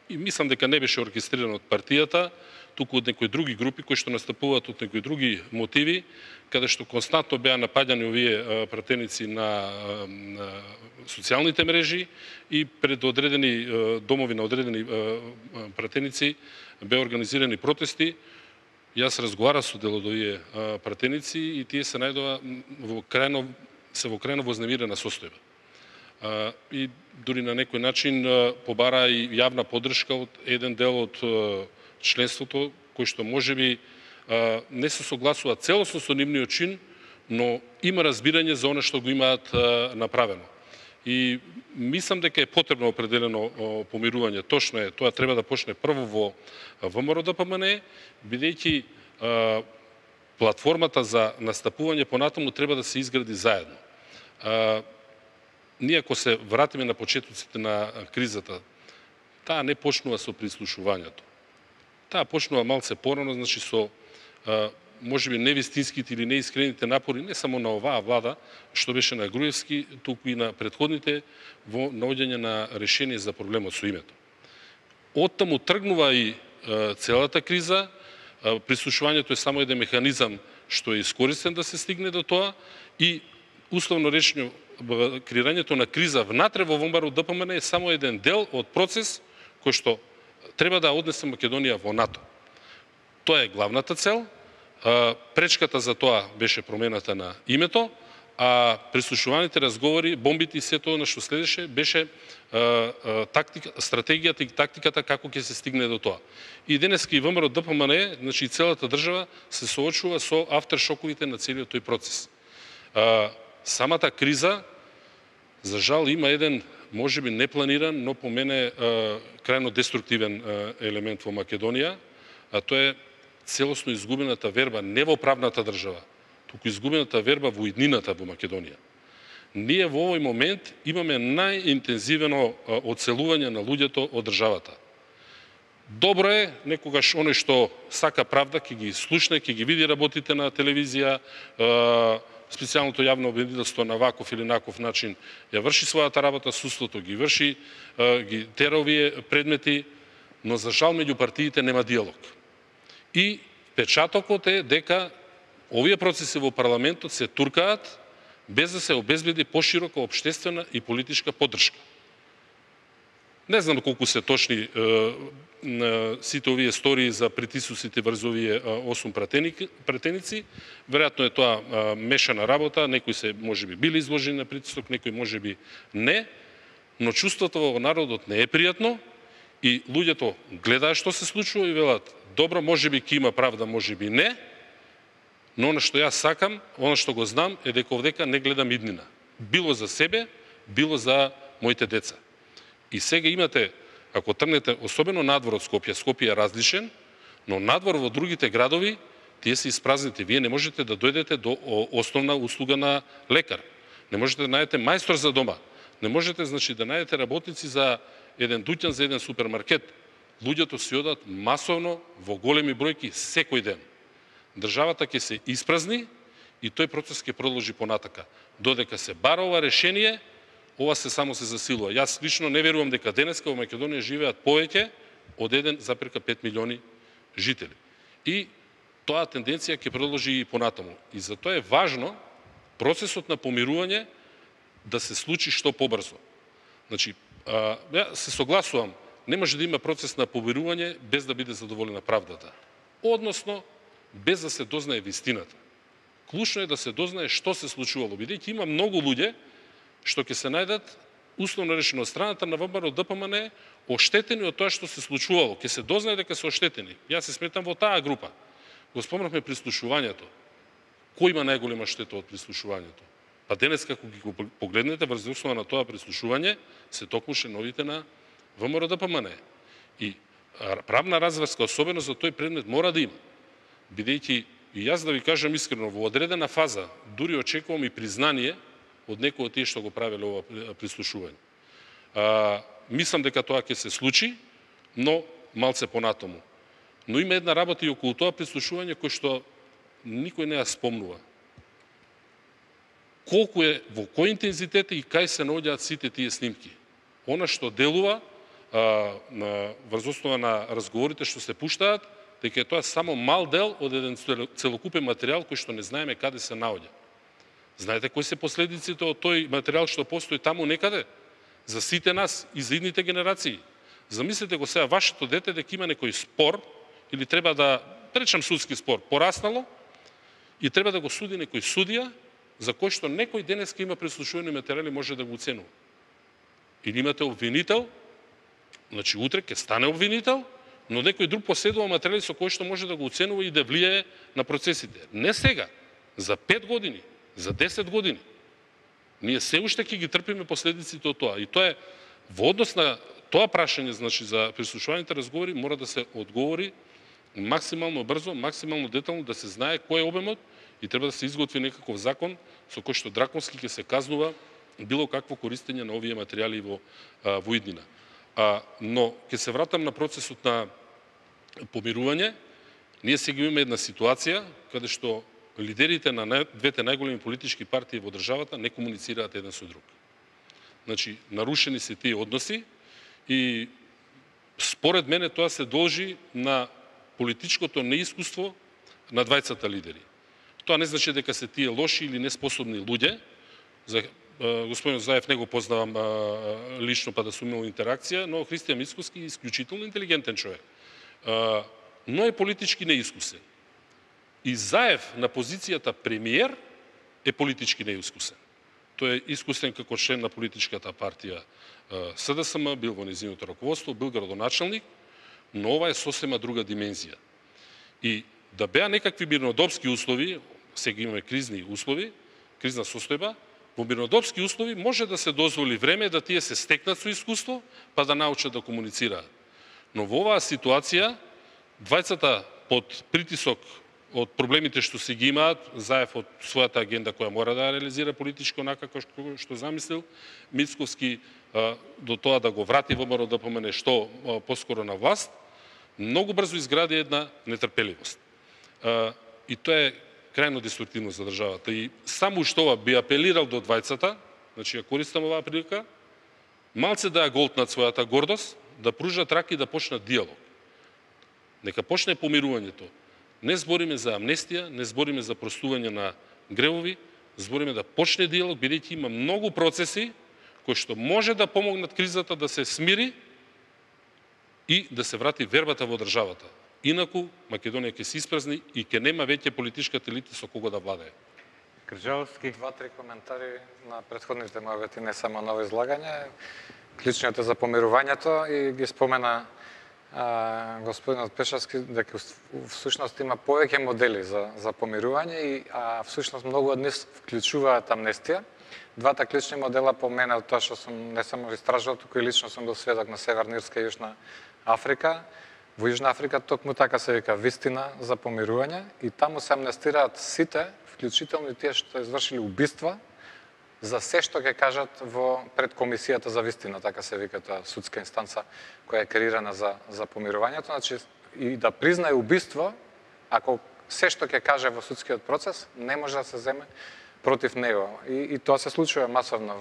и мислам дека не беше оркестриран од партијата, туку од некои други групи кои што настапуваат од некои други мотиви, каде што константно беа напаѓани овие пратеници на социјалните мрежи и пред одредени домови на одредени пратеници беа организирани протести. Јас разговарав со дел од овие пратеници и тие се најдоа во крајно вознемирена состојба. И дури на некој начин побара и јавна поддршка од еден дел од членството, кој што можеби не се согласува целосно со нивниот чин, но има разбирање за оно што го имаат направено. И мислам дека е потребно определено помирување. Точно е, тоа треба да почне прво во ВМРО ДПМН, бидејќи платформата за настапување понатаму треба да се изгради заедно. Ние ако се вратиме на почетоците на кризата, таа не почнува со прислушувањето. Таа почнува малце порано, значи со можеби невистинските или неискрените напори не само на оваа влада, што беше на Груевски, туку и на претходните во наоѓање на решение за проблемот со името. Оттаму тргнува и целата криза, прислушувањето е само еден механизам што е искористен да се стигне до тоа и условно речено креирањето на криза внатре во ВМРО ДПМН е само еден дел од процес кој што треба да однесе Македонија во НАТО. Тоа е главната цел. Пречката за тоа беше промената на името, а прислушуваните разговори, бомбите и сето на што следеше беше стратегијата и тактиката како ќе се стигне до тоа. И денеска и ВМРО ДПМН, значи и целата држава се соочува со авторшоковите на целиот тој процес. Самата криза, за жал, има еден можеби непланиран, но по мене крајно деструктивен елемент во Македонија, а тоа е целосно изгубената верба не во правната држава, туку изгубената верба во иднината во Македонија. Ние во овој момент имаме најинтензивно одселување на луѓето од државата. Добро е, некогаш оној што сака правда ќе ги слушне, ќе ги види работите на телевизија, специјалното јавно обвинителство на ваков или наков начин ја врши својата работа, судството ги врши, ги тера овие предмети, но за жал меѓу партиите нема диалог. И печатокот е дека овие процеси во парламентот се туркаат без да се обезбеди поширока општествена и политичка поддршка. Не знам колку се точни сите овие стории за притисуците врз овие 8 пратеници. Веројатно е тоа мешана работа, некои се можеби били изложени на притисок, некои можеби не, но чувството во народот не е пријатно И луѓето гледаат што се случува и велат, добро, можеби ќе има правда, можеби не, но она што јас сакам, она што го знам, е дека овдека не гледам иднина. Било за себе, било за моите деца. И сега имате, ако тргнете, особено надвор од Скопје, Скопје е различен, но надвор во другите градови, тие се испразните. Вие не можете да дојдете до основна услуга на лекар. Не можете да најдете мајстор за дома. Не можете, значи, да најдете работници за еден дуќан, за еден супермаркет. Луѓето си одат масовно во големи бројки секој ден. Државата ќе се испразни и тој процес ќе продолжи понатака. Додека се бара ова решение, ова се само се засилува. Јас лично не верувам дека денеска во Македонија живеат повеќе од 1,5 милиони жители. И тоа тенденција ќе продолжи и понатаму. И затоа е важно процесот на помирување да се случи што побрзо. Значи, ја се согласувам, не може да има процес на помирување без да биде задоволена правдата. Односно, без да се дознае вистината. Клучно е да се дознае што се случувало, бидејќи има многу луѓе што ќе се најдат условно решено од страната на ВМРО ДПМН оштетени од тоа што се случувало. Ќе се дознае дека се оштетени. Јас се сметам во таа група. Го спомнавме прислушувањето. Кој има најголема штета од прислушувањето? Па денес, како ги го погледнете, врз основа на тоа прислушување, се токму членовите на ВМРО ДПМН. И правна разврска, особено за тој предмет, мора да има. Бидејќи, и јас да ви кажам искрено, во одредена фаза, дури очекувам и признание од некој од тие што го правеле ова прислушување. Мислам дека тоа ќе се случи, но малце понатаму. Но има една работа и околу тоа прислушување кој што никој не ја спомнува. Колку е, во кој интензитет и кај се наоѓаат сите тие снимки. Она што делува врз основа на разговорите што се пуштаат, дека е тоа само мал дел од еден целокупен материјал кој што не знаеме каде се наоѓа. Знаете кои се последиците од тој материјал што постои таму некаде? За сите нас и за идните генерации. Замислете го сега вашето дете дека има некој спор, или треба да, речам судски спор, пораснало, и треба да го суди некој судија, за кој што некој денеска има прислушувани материјали може да го оценува. Или имате обвинител, значи утре ќе стане обвинител, но некој друг поседува материјали со кој што може да го оценува и да влијае на процесите. Не сега, за 5 години, за 10 години. Ние се уште ќе ги трпиме последиците од тоа. И тоа е во однос на тоа прашање, значи за прислушуваните разговори, мора да се одговори максимално брзо, максимално детално, да се знае кој е обемот и треба да се изготви некаков закон со кој што драконски ќе се казнува било какво користење на овие материјали во иднина. Но ќе се вратам на процесот на помирување. Ние сега имаме една ситуација каде што лидерите на двете најголеми политички партии во државата не комуницираат еден со друг. Значи, нарушени се тие односи и според мене тоа се должи на политичкото неискуство на двајцата лидери. Тоа не значи дека се тие лоши или неспособни луѓе. За господин Заев не го познавам лично, па да сум имал интеракција, но Христијан Мицкоски е исклучително интелигентен човек. Но е политички неискусен. И Заев на позицијата премиер е политички неискусен. Тој е искусен како член на политичката партија СДСМ, бил во нејзиното раководство, бил градоначалник, но ова е сосема друга димензија. И да беа некакви мирнодопски услови, сега имаме кризни услови, кризна состојба, во мирнодопски услови може да се дозволи време да тие се стекнат со искуство, па да научат да комуницираат. Но во оваа ситуација, двајцата под притисок од проблемите што се ги имаат, Заев од својата агенда која мора да реализира политичко онака како што замислил, Мицковски до тоа да го врати ВМРО ДПМН што поскоро на власт, многу брзо изгради една нетрпеливост. И тоа е крајно деструктивно за државата. И само што ова би апелирал до двајцата, значи ја користам оваа прилика, малце да ја голтнат својата гордост, да пружат раки и да почнат диалог. Нека почне помирувањето. Не збориме за амнестија, не збориме за простување на гревови, збориме да почне диалог, бидејќи има многу процеси кои што може да помогнат кризата да се смири и да се врати вербата во државата. Инаку Македонија ќе се испразни и ќе нема веќе политичката елита со кого да владее. Кржаловски. 2-3 коментари на претходните мои не само ново излагање. клучниот е за помирувањето и ги спомена господинот Пешевски дека всушност има повеќе модели за помирување и всушност многу од нив вклучуваат амнестија. Двата клучни модела по мене, од тоа што сум не само истражувал, туку и лично сум бил сведок на Северна Ирска и Јужна Африка. Во Јужна Африка токму така се вика вистина за помирување и таму се амнестираат сите, вклучително и тие што извршили убиства, за се што ќе кажат пред комисијата за вистина, така се вика тоа судска инстанца која е креирана за помирувањето, значи и да признае убиство, ако се што ќе каже во судскиот процес не може да се земе против него. И тоа се случува масовно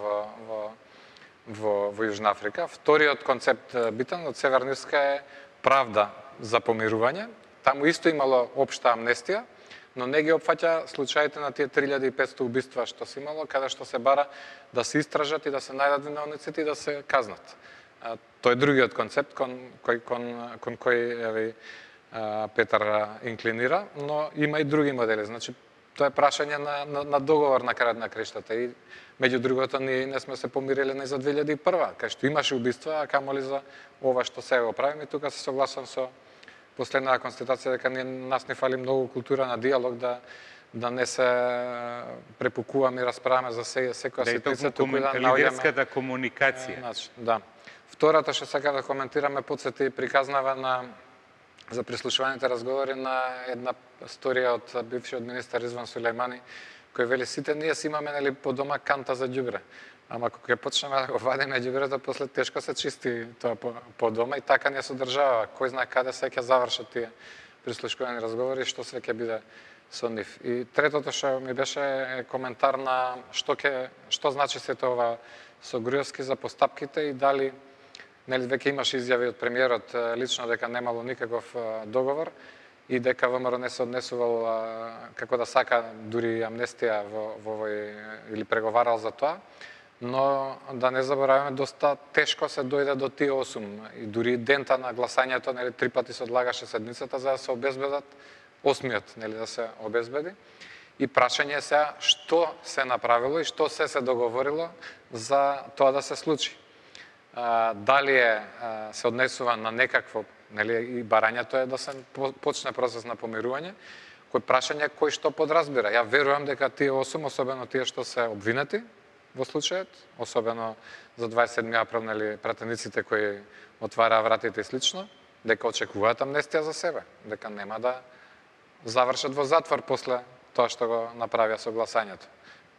во Јужна Африка. Вториот концепт битен од Северна Ирска е правда за помирување. Таму исто имало општа амнестија, но не ги опфаќа случаите на тие 3500 убиства што се имало, каде што се бара да се истражат и да се најдат виновниците и да се казнат. Тоа е другиот концепт кон кој Петар инклинира, но има и други модели. Значи, тоа е прашање на договор на крајот на крештата и меѓу другото ние не сме се помириле ни за 2001, кај што имаше убиства, а камоли за ова што сега го правиме. Тука се согласувам со последната констатација дека нас не фали многу култура на диалог, да не се препукуваме и расправаме за секоја ситуација, туку да наоѓаме лидерската комуникација. Да. Втората што сакам да коментираме потсети и приказнава за прислушуваните разговори на една сторија од бившиот министар Изван Сулејмани, кој вели сите ние си имаме по дома канта за ѓубре. Ама кога ќе почнеме да го вадиме ѓубрето, после тешко се чисти тоа по дома и така не се одржава. Кој знае каде се ќе завршат тие прислушувани разговори и што се ќе биде со нив. И третото што ми беше коментар на што значи сето ова со Груевски за постапките и дали веќе имаше изјави од премиерот лично дека немало никаков договор и дека ВМРО не се однесувал како да сака дури амнестија во овој или преговарал за тоа, но да не забораваме доста тешко се дојде до тие 8 и дури дента на гласањето 3 пати се одлагаше седмицата за да се обезбедат 8-миот да се обезбеди. И прашање е сега што се направило и што се договорило за тоа да се случи. Дали се однесува на некакво, и барањето е да се почне процес на помирување, кој прашање кој што подразбира. Ја верувам дека тие 8, особено тие што се обвинети во случајот, особено за 27 април, пратениците кои отвараа вратите и слично, дека очекуваат амнестија за себе, дека нема да завршат во затвор после тоа што го направија со гласањето.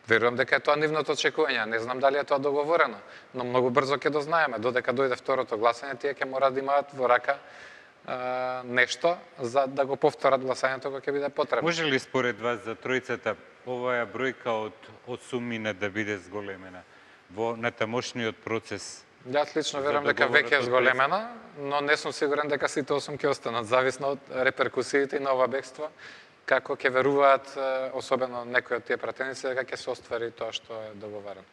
Верувам дека е тоа нивното очекување, не знам дали е тоа договорено, но многу брзо ќе дознаеме, додека дојде второто гласање, тие ќе мора да имаат во рака нешто за да го повторат гласањето кога ќе биде потребно. Може ли според вас за тројцата оваа бројка од 8 да биде зголемена во натамошниот процес? Јас лично верувам дека веќе е зголемена, но не сум сигурен дека сите 8 ќе останат, зависно од реперкусиите на ова бегство, како ќе веруваат, особено некои од тие пратеници, дека ќе се оствари тоа што е договорено.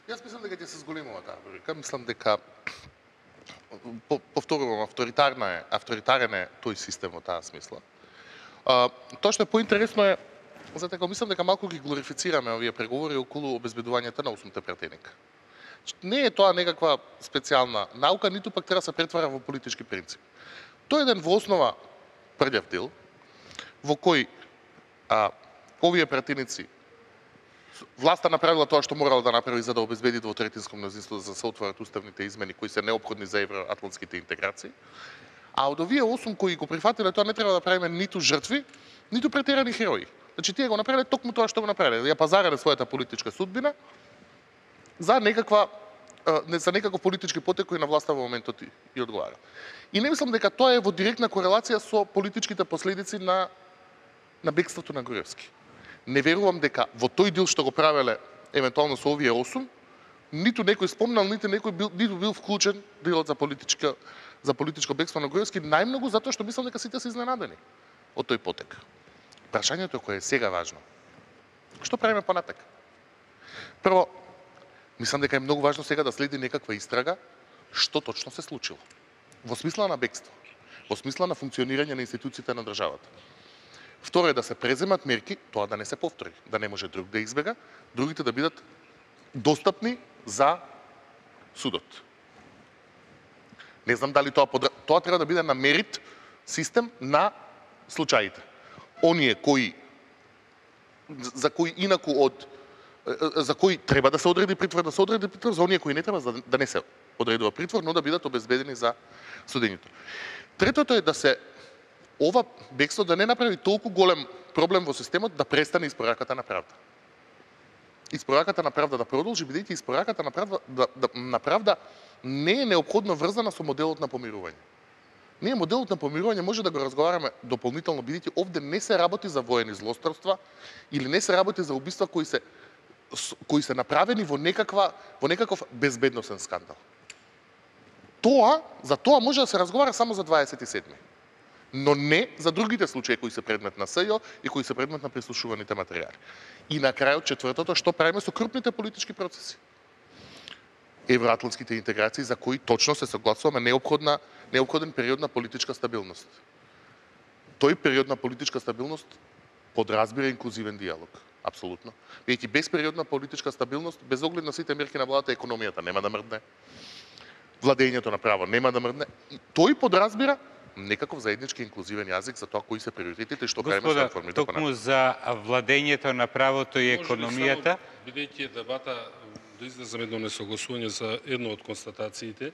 Јас мислам дека ќе се зголемува таа бројка. Мислам дека повторувам, авторитарен е тој систем во таа смисла. Тоа што е поинтересно е, затоа мислам дека малку ги глорифицираме овие преговори околу обезбедувањето на 8 пратеника. Не е тоа некаква специјална наука, ниту пак треба да се претвара во политички принцип. Тоа е еден во основа прљав дел, во кој овие пратеници власта направила тоа што морала да направи за да обезбеди двотретинско мнозинство за да се отворат уставните измени кои се неопходни за евроатлантските интеграции. А од овие 8 кои го прифатиле тоа не треба да правиме ниту жртви, ниту претерани херои. Значи тие го направиле токму тоа што го направиле, ја пазарале својата политичка судбина за некаков политички потек кој на власта во моментот и одговара. И не мислам дека тоа е во директна корелација со политичките последици на бегството на Груевски. Не верувам дека во тој дел што го правеле евентуално со овие 8, ниту некој спомнал, ниту бил вклучен делот за политичко бегство на Груевски, најмногу затоа што мислам дека сите се изненадени од тој потек. Прашањето кое е сега важно. Што правиме понатак? Прво, мислам дека е многу важно сега да следи некаква истрага што точно се случило. Во смисла на бегство, во смисла на функционирање на институциите на државата. Второ е да се преземат мерки, тоа да не се повтори, да не може друг да избега, другите да бидат достапни за судот. Не знам дали тоа треба да биде на мерит систем на случаите. Оние за кои инаку за кои треба да се одреди притвор, за оние кои не треба да не се одредува притвор, но да бидат обезбедени за судењето. Третото е да се ова бегство да не направи толку голем проблем во системот да престане испораката на правда. Испораката на правда да продолжи, бидејќи испораката на правда не е неопходно врзана со моделот на помирување. Ние моделот на помирување може да го разговараме дополнително, бидејќи овде не се работи за воени злосторства или не се работи за убиства кои се направени во некаков безбедносен скандал. За тоа може да се разговара само за 27. Но не за другите случаи кои се предмет на СЈО и кои се предмет на прислушуваните материјали. И на крајот четвртото, што правиме со крупните политички процеси? Евроатлантските интеграции за кои точно се согласуваме неопходен период на политичка стабилност. Тој период на политичка стабилност подразбира инклузивен диалог. Апсолутно. Бидејќи без период на политичка стабилност, без оглед на сите мерки на владата, економијата нема да мрдне, владењето на право нема да мрдне. И тој подразбира некаков заеднички инклузивен јазик за тоа кои се приоритетите и што правиме со реформите. Господа, токму за владењето на правото и економијата, бидејќи дебата да излеземе едно несогласување за едно од констатациите,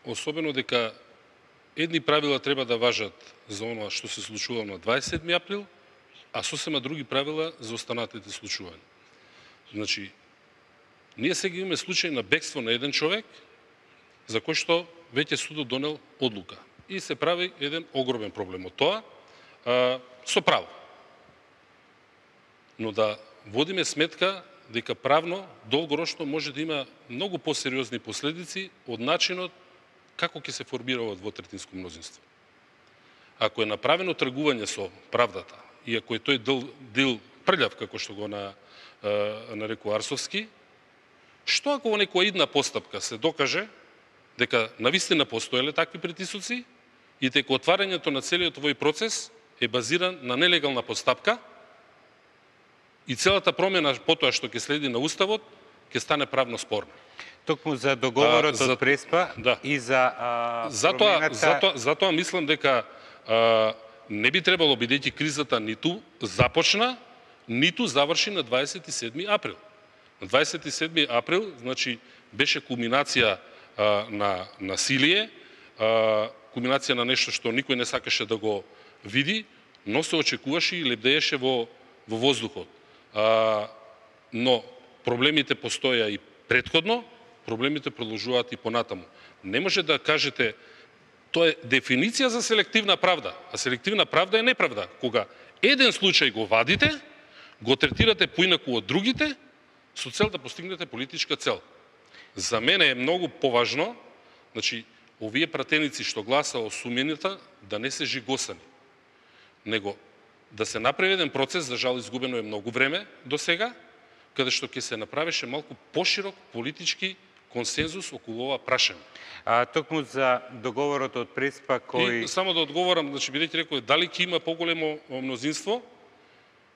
особено дека едни правила треба да важат за оноа што се случува на 27 април, а сосема други правила за останатите случувања. Значи, ние сега имаме случај на бегство на еден човек, за кој што веќе судот донел одлука. И се прави еден огромен проблем од тоа, со право. Но да водиме сметка дека правно, долгорочно може да има многу посериозни последици од начинот како ќе се формира ова двотретинско мнозинство. Ако е направено тргување со правдата и ако е тој дил прљав, како што го нарекува Арсовски, што ако во некоја идна постапка се докаже дека навистина постоеле такви притисоци и дека отварањето на целиот овој процес е базиран на нелегална постапка и целата промена потоа што ќе следи на Уставот ќе стане правно спорна. токму за договорот од Преспа и за промената... Затоа мислам дека не би требало, бидејќи кризата ниту започна, ниту заврши на 27 април. На 27 април, значи, беше кулминација на насилие, кулминација на нешто што никој не сакаше да го види, но се очекуваше и лебдееше во воздухот. Но проблемите постоја и претходно, проблемите продолжуваат и понатаму. Не може да кажете, тоа е дефиниција за селективна правда, а селективна правда е неправда. Кога еден случај го вадите, го третирате поинаку од другите, со цел да постигнете политичка цел. За мене е многу поважно, значи, овие пратеници што гласа осумените да не се жигосани, него да се направи еден процес, за жал изгубено е многу време до сега, каде што ќе се направеше малку поширок политички консензус околу ова прашање. Токму за договорот од Преспа кој... И само да одговорам, значи, бидејќи рекој, дали ќе има поголемо мнозинство,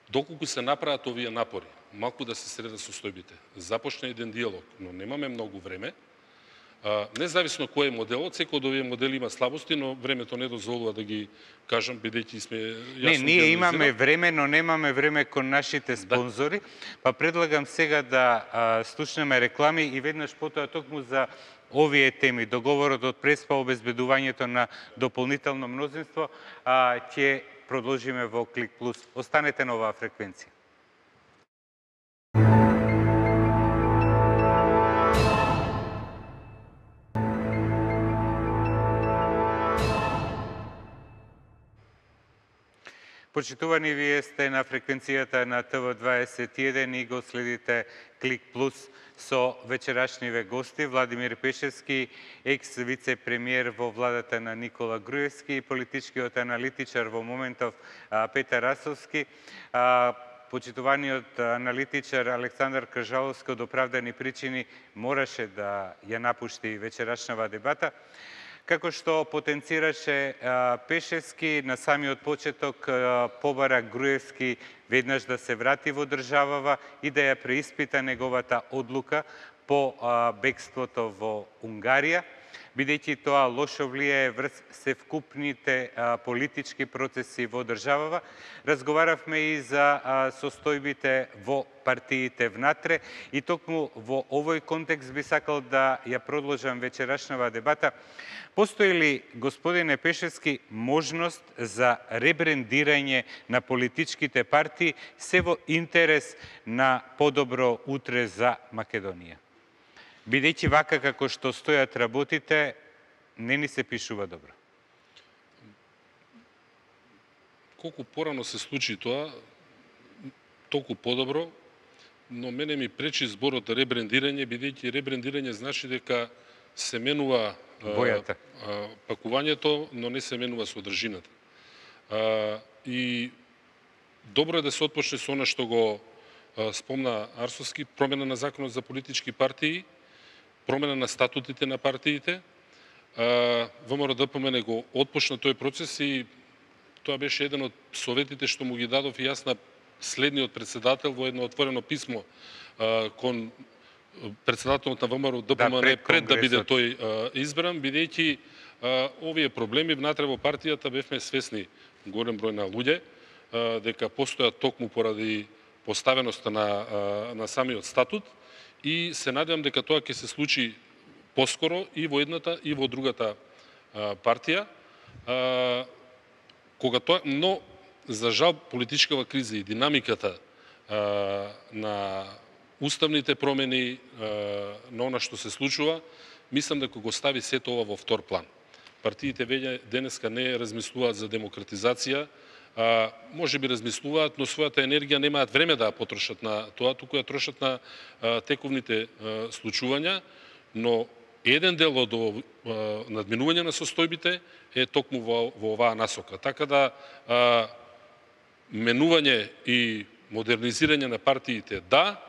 доколку се направат овие напори, малку да се средат состојбите. Започне еден диалог, но немаме многу време. Независно кој е моделот, секој од овие модели има слабости, но времето не дозволува да ги кажам, бидејќи сме јасно... Не, ние имаме време, но немаме време кон нашите спонзори, па предлагам сега да слушнеме реклами и веднаш потоа токму за овие теми, договорот од Преспа, обезбедувањето на дополнително мнозинство, ќе продолжиме во Клик Плюс. Останете на оваа фреквенција. Почитувани, вие сте на фреквенцијата на ТВ21 и го следите Клик Плюс со вечерашниве гости Владимир Пешевски, екс-вице-премиер во владата на Никола Груевски и политичкиот аналитичар во моментов Петар Асовски. Почитуваниот аналитичар Александар Кржаловски од оправдани причини мораше да ја напушти вечерашнава дебата. Како што потенцираше Пешевски, на самиот почеток побара Груевски веднаш да се врати во државава и да ја преиспита неговата одлука по бегството во Унгарија, бидејќи тоа лошо влијае врз севкупните политички процеси во државава. Разговаравме и за состојбите во партиите внатре и токму во овој контекст би сакал да ја продолжам вечерашнава дебата. Постои ли, господине Пешевски, можност за ребрендирање на политичките партии се во интерес на подобро утре за Македонија? Бидејќи вака како што стојат работите, не ни се пишува добро. Колку порано се случи тоа, толку подобро, но мене ми пречи зборот ребрендирање, бидејќи ребрендирање значи дека се менува Бојата. пакувањето, но не се менува содржината. И добро е да се отпочне со она што го спомна Арсовски, промена на законот за политички партии, промена на статутите на партиите. ВМРО-ДПМН го отпочна тој процес и тоа беше еден од советите што му ги дадов и јас на следниот председател во едно отворено писмо кон председателот на ВМРО-ДПМН пред да биде тој избран, бидејќи овие проблеми внатре во партијата бевме свесни, голем број на луѓе, дека постојат токму поради поставеноста на самиот статут, и се надевам дека тоа ќе се случи поскоро и во едната и во другата партија. Но за жал политичкава криза и динамиката на уставните промени, на она што се случува, мислам дека го стави сето ова во втор план. Партиите веќе денеска не размислуваат за демократизација, може би размислуваат, но својата енергија немаат време да ја потрошат на тоа, туку ја трошат на тековните случувања, но еден дел од надминување на состојбите е токму во оваа насока. Така да менување и модернизирање на партиите да,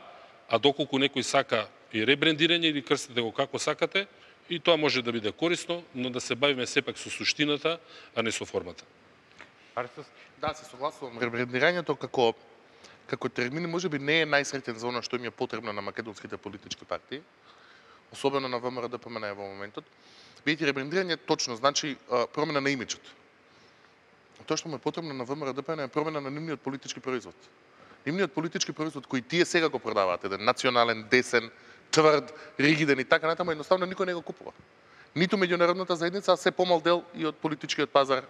а доколку некој сака и ребрендирање или крстете го како сакате, и тоа може да биде корисно, но да се бавиме сепак со суштината, а не со формата. Да, се согласувам. Ребрендирањето како термин можеби не е најсреќен за она што им е потребно на македонските политички партии, особено на ВМРО-ДПМН во моментот. Бидејќи ребрендирање точно значи промена на имиџот. Тоа што му е потребно на ВМРО-ДПМН е промена на нивниот политички производ. Нивниот политички производ кој тие сега го продаваат, еден национален, десен, тврд, ригиден и така натаму, едноставно никој не го купува. Ниту меѓународната заедница, а се помал дел и од политичкиот пазар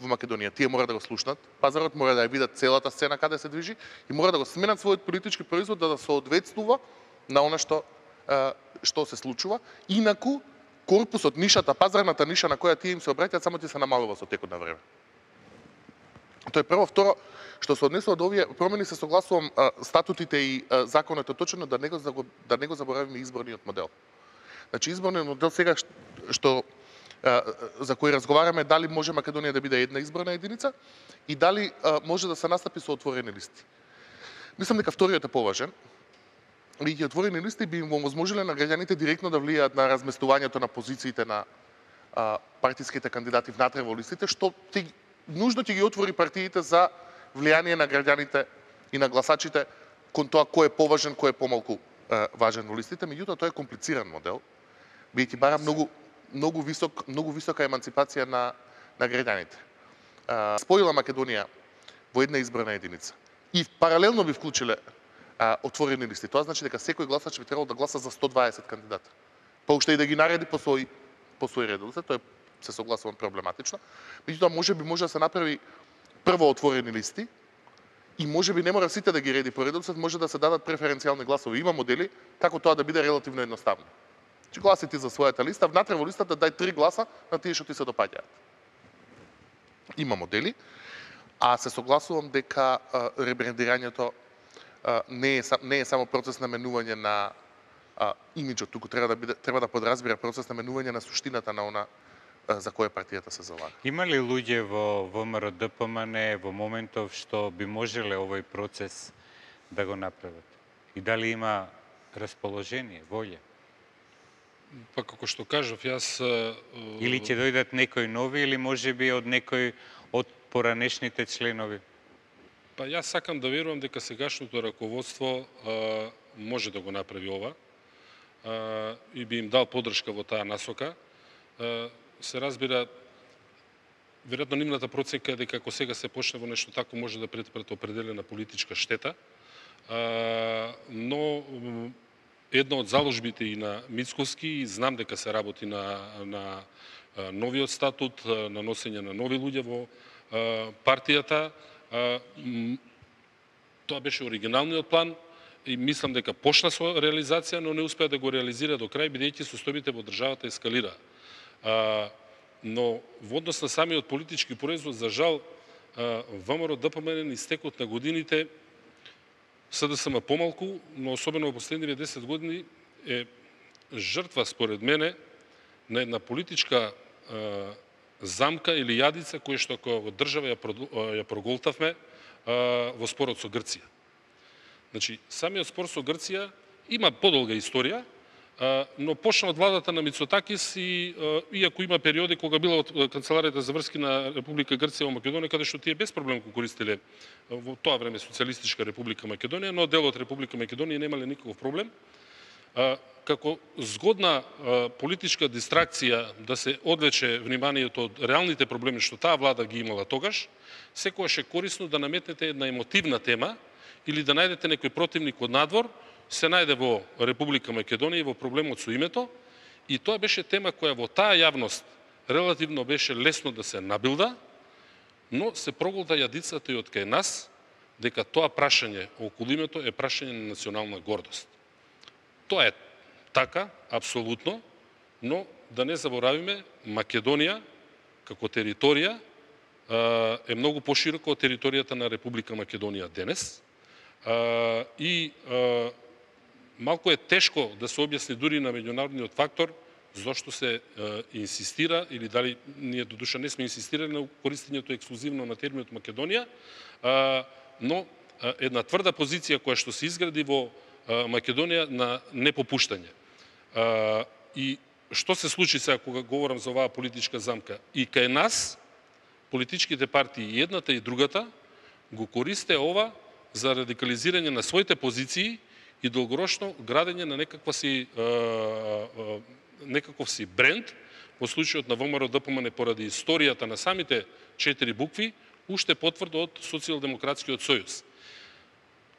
во Македонија. Тие мора да го слушнат, пазарот мора да ја видат целата сцена каде се движи и мора да го сменат својот политички производ да соодветствува на она што се случува. Инаку корпусот, нишата, пазарната ниша на која тие им се обраќаат само ќе се намалува со текот на време. Тоа е прво. Второ, што се однесува до овие промени, се согласувам, статутите и законот е точно да не го заборавиме изборниот модел. Значи изборниот модел сега што за кој разговараме, дали може Македонија да биде една изборна единица и дали може да се настапи со отворени листи. Мислам дека вториот е поважен. И отворени листи би им овозможиле на граѓаните директно да влијаат на разместувањето на позициите на партиските кандидати внатре во листите, што нужно ќе ги отвори партиите за влијание на граѓаните и на гласачите кон тоа кој е поважен, кој е помалку важен во листите. Меѓутоа, тоа е комплициран модел, бидејќи бара многу висока еманципација на граѓаните. Споила Македонија во една изборна единица и паралелно би вклучиле отворени листи. Тоа значи дека секој гласач би требало да гласа за 120 кандидата. Па уште и да ги нареди по свој редослед, тоа се согласувам проблематично. Меѓутоа може да се направи прво отворени листи и можеби не мора сите да ги реди по редослед, може да се дадат преференцијални гласови. Има модели како тоа да биде релативно едноставно. Че гласи ти за својата листа, внатре во листата дај 3 гласа на тие што ти се допаѓаат. Има модели, а се согласувам дека ребрендирањето не е само процес на менување на имиџот, туку треба да подразбира процес на менување на суштината на она за која партијата се залага. Има ли луѓе во ВМРО-ДПМН во моментов што би можеле овој процес да го направат? И дали има расположение, волја? Па како што кажав, јас... Или ќе дојдат некои нови, или можеби од некој од поранешните членови? Па јас сакам да верувам дека сегашното раководство може да го направи ова и би им дал поддршка во таа насока. Се разбира, веројатно нивната проценка е дека ако сега се почне во нешто тако може да претпред определена политичка штета, но една од заложбите и на Мицкоски, и знам дека се работи на новиот статут, на носење на нови луѓе во партијата. Тоа беше оригиналниот план и мислам дека почна со реализација, но не успеа да го реализира до крај, бидејќи состојбите во државата ескалира. Но во однос на самиот политички производ, за жал, ВМРО ДПМН низ текот на годините, СДСМ помалку, но особено во последниве 10 години е жртва, според мене, на една политичка замка или јадица која што како држава ја проголтавме во спорот со Грција. Значи, самиот спор со Грција има подолга историја, но почна од владата на Мицотакис и иако има периоди кога била од Канцеларијата за врски на Република Грција во Македонија, каде што тие без проблем го користеле во тоа време Социјалистичка Република Македонија, но дел од Република Македонија немале никаков проблем. Како згодна политичка дистракција да се одвлече вниманието од реалните проблеми што таа влада ги имала тогаш, секогаш е корисно да наметнете една емотивна тема или да најдете некој противник од надвор, се најде во Република Македонија и во проблемот со името, и тоа беше тема која во таа јавност релативно беше лесно да се набилда, но се проголта јадицата и од кај нас дека тоа прашање околу името е прашање на национална гордост. Тоа е така, апсолутно, но да не заборавиме, Македонија како територија е многу поширока од територијата на Република Македонија денес и малку е тешко да се објасни дури на меѓународниот фактор зошто се инсистира, или дали ние до душа не сме инсистирали на користењето ексклузивно на терминот Македонија, но една тврда позиција која што се изгради во Македонија на непопуштање. И што се случи сега кога говорам за оваа политичка замка? И кај нас, политичките партии, и едната и другата, го користе ова за радикализирање на своите позиции и долгорочно градење на некаков си бренд, во случајот на ВМРО ДПМН поради историјата на самите 4 букви, уште потврдо од Социјалдемократскиот сојуз.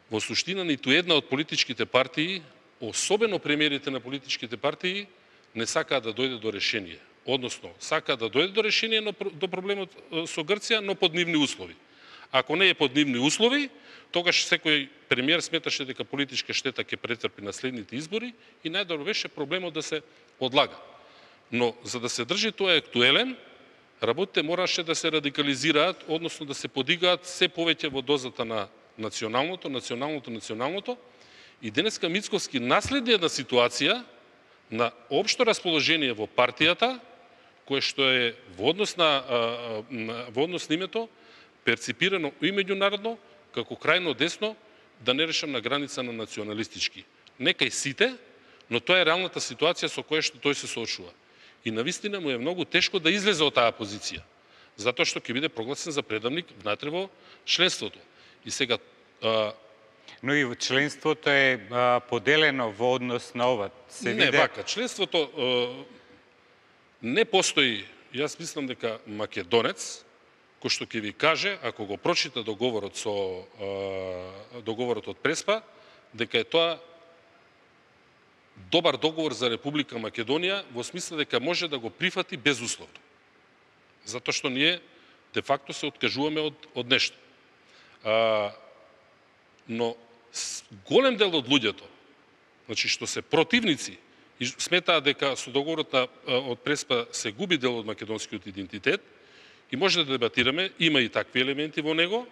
Во суштина, ниту една од политичките партии, особено премиерите на политичките партии, не сакаат да дојде до решение. Односно, сакаат да дојде до решение до проблемот со Грција, но под нивни услови. Ако не е под нивни услови, тогаш секој премиер сметаше дека политичка штета ќе претрпи на следните избори и најдобро беше проблемот да се одлага. Но за да се држи тоа актуелен, работите мораше да се радикализираат, односно да се подигаат се повеќе во дозата на националното. И денеска Мицкоски наследи една ситуација на општо расположение во партијата, кое што е во однос на името, перципирано и меѓународно, како крајно десно, да не решам на граница на националистички. Некај сите, но тоа е реалната ситуација со која што тој се соочува. И навистина му е многу тешко да излезе од таа позиција, затоа што ќе биде прогласен за предавник внатре во членството. И сега... Но и членството е поделено во однос на ова. Не, вака, членството не постои. Јас мислам дека македонец, кој што ќе ви каже, ако го прочита договорот од Преспа, дека е тоа добар договор за Република Македонија, во смисла дека може да го прифати безусловно. Затоа што ние, де факто, се откажуваме од нешто. Но голем дел од луѓето, значи што се противници и сметаат дека со договорот од Преспа се губи дел од македонскиот идентитет, и може да дебатираме, има и такви елементи во него,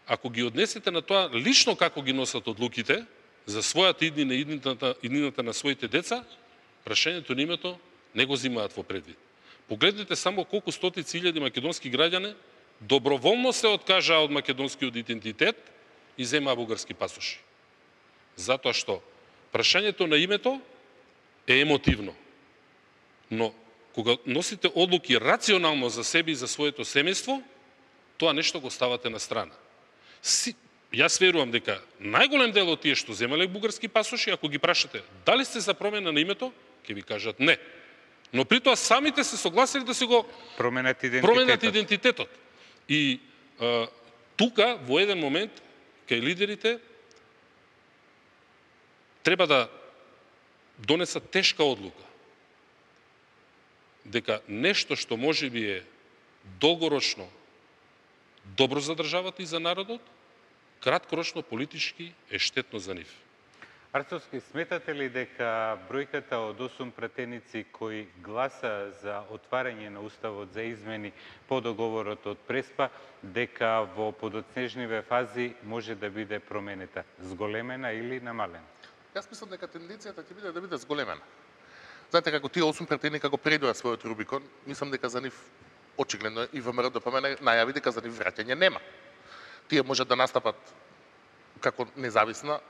ако ги однесете на тоа лично како ги носат одлуките за својата иднина и иднината на своите деца, прашањето на името не го зимаат во предвид. Погледнете само колку стотици илјади македонски граѓани доброволно се откажаа од македонскиот идентитет и земаа бугарски пасоши. Затоа што прашањето на името е емотивно. Но кога носите одлуки рационално за себе и за своето семејство, тоа нешто го ставате на страна. Јас верувам дека најголем дел од тие што земале бугарски пасоши, ако ги прашате дали сте за промена на името, ќе ви кажат не. Но при тоа самите се согласили да се го променат идентитетот. И тука во еден момент кај лидерите треба да донесат тешка одлука. Дека нешто што можеби е долгорочно добро за државата и за народот, краткорочно политички е штетно за нив. Арцовски, сметате ли дека бројката од 8 пратеници кои гласа за отварање на Уставот за измени по договорот од Преспа, дека во подоцнежниве фази може да биде променета, зголемена или намалена? Јас мислам дека тенденцијата ќе биде да биде зголемена. Знаете, како тие 8 пратеника го предоа својот Рубикон, мислам дека за нив очигледно и ВМРО ДПМН најави дека за нив враќање нема. Тие можат да настапат како независна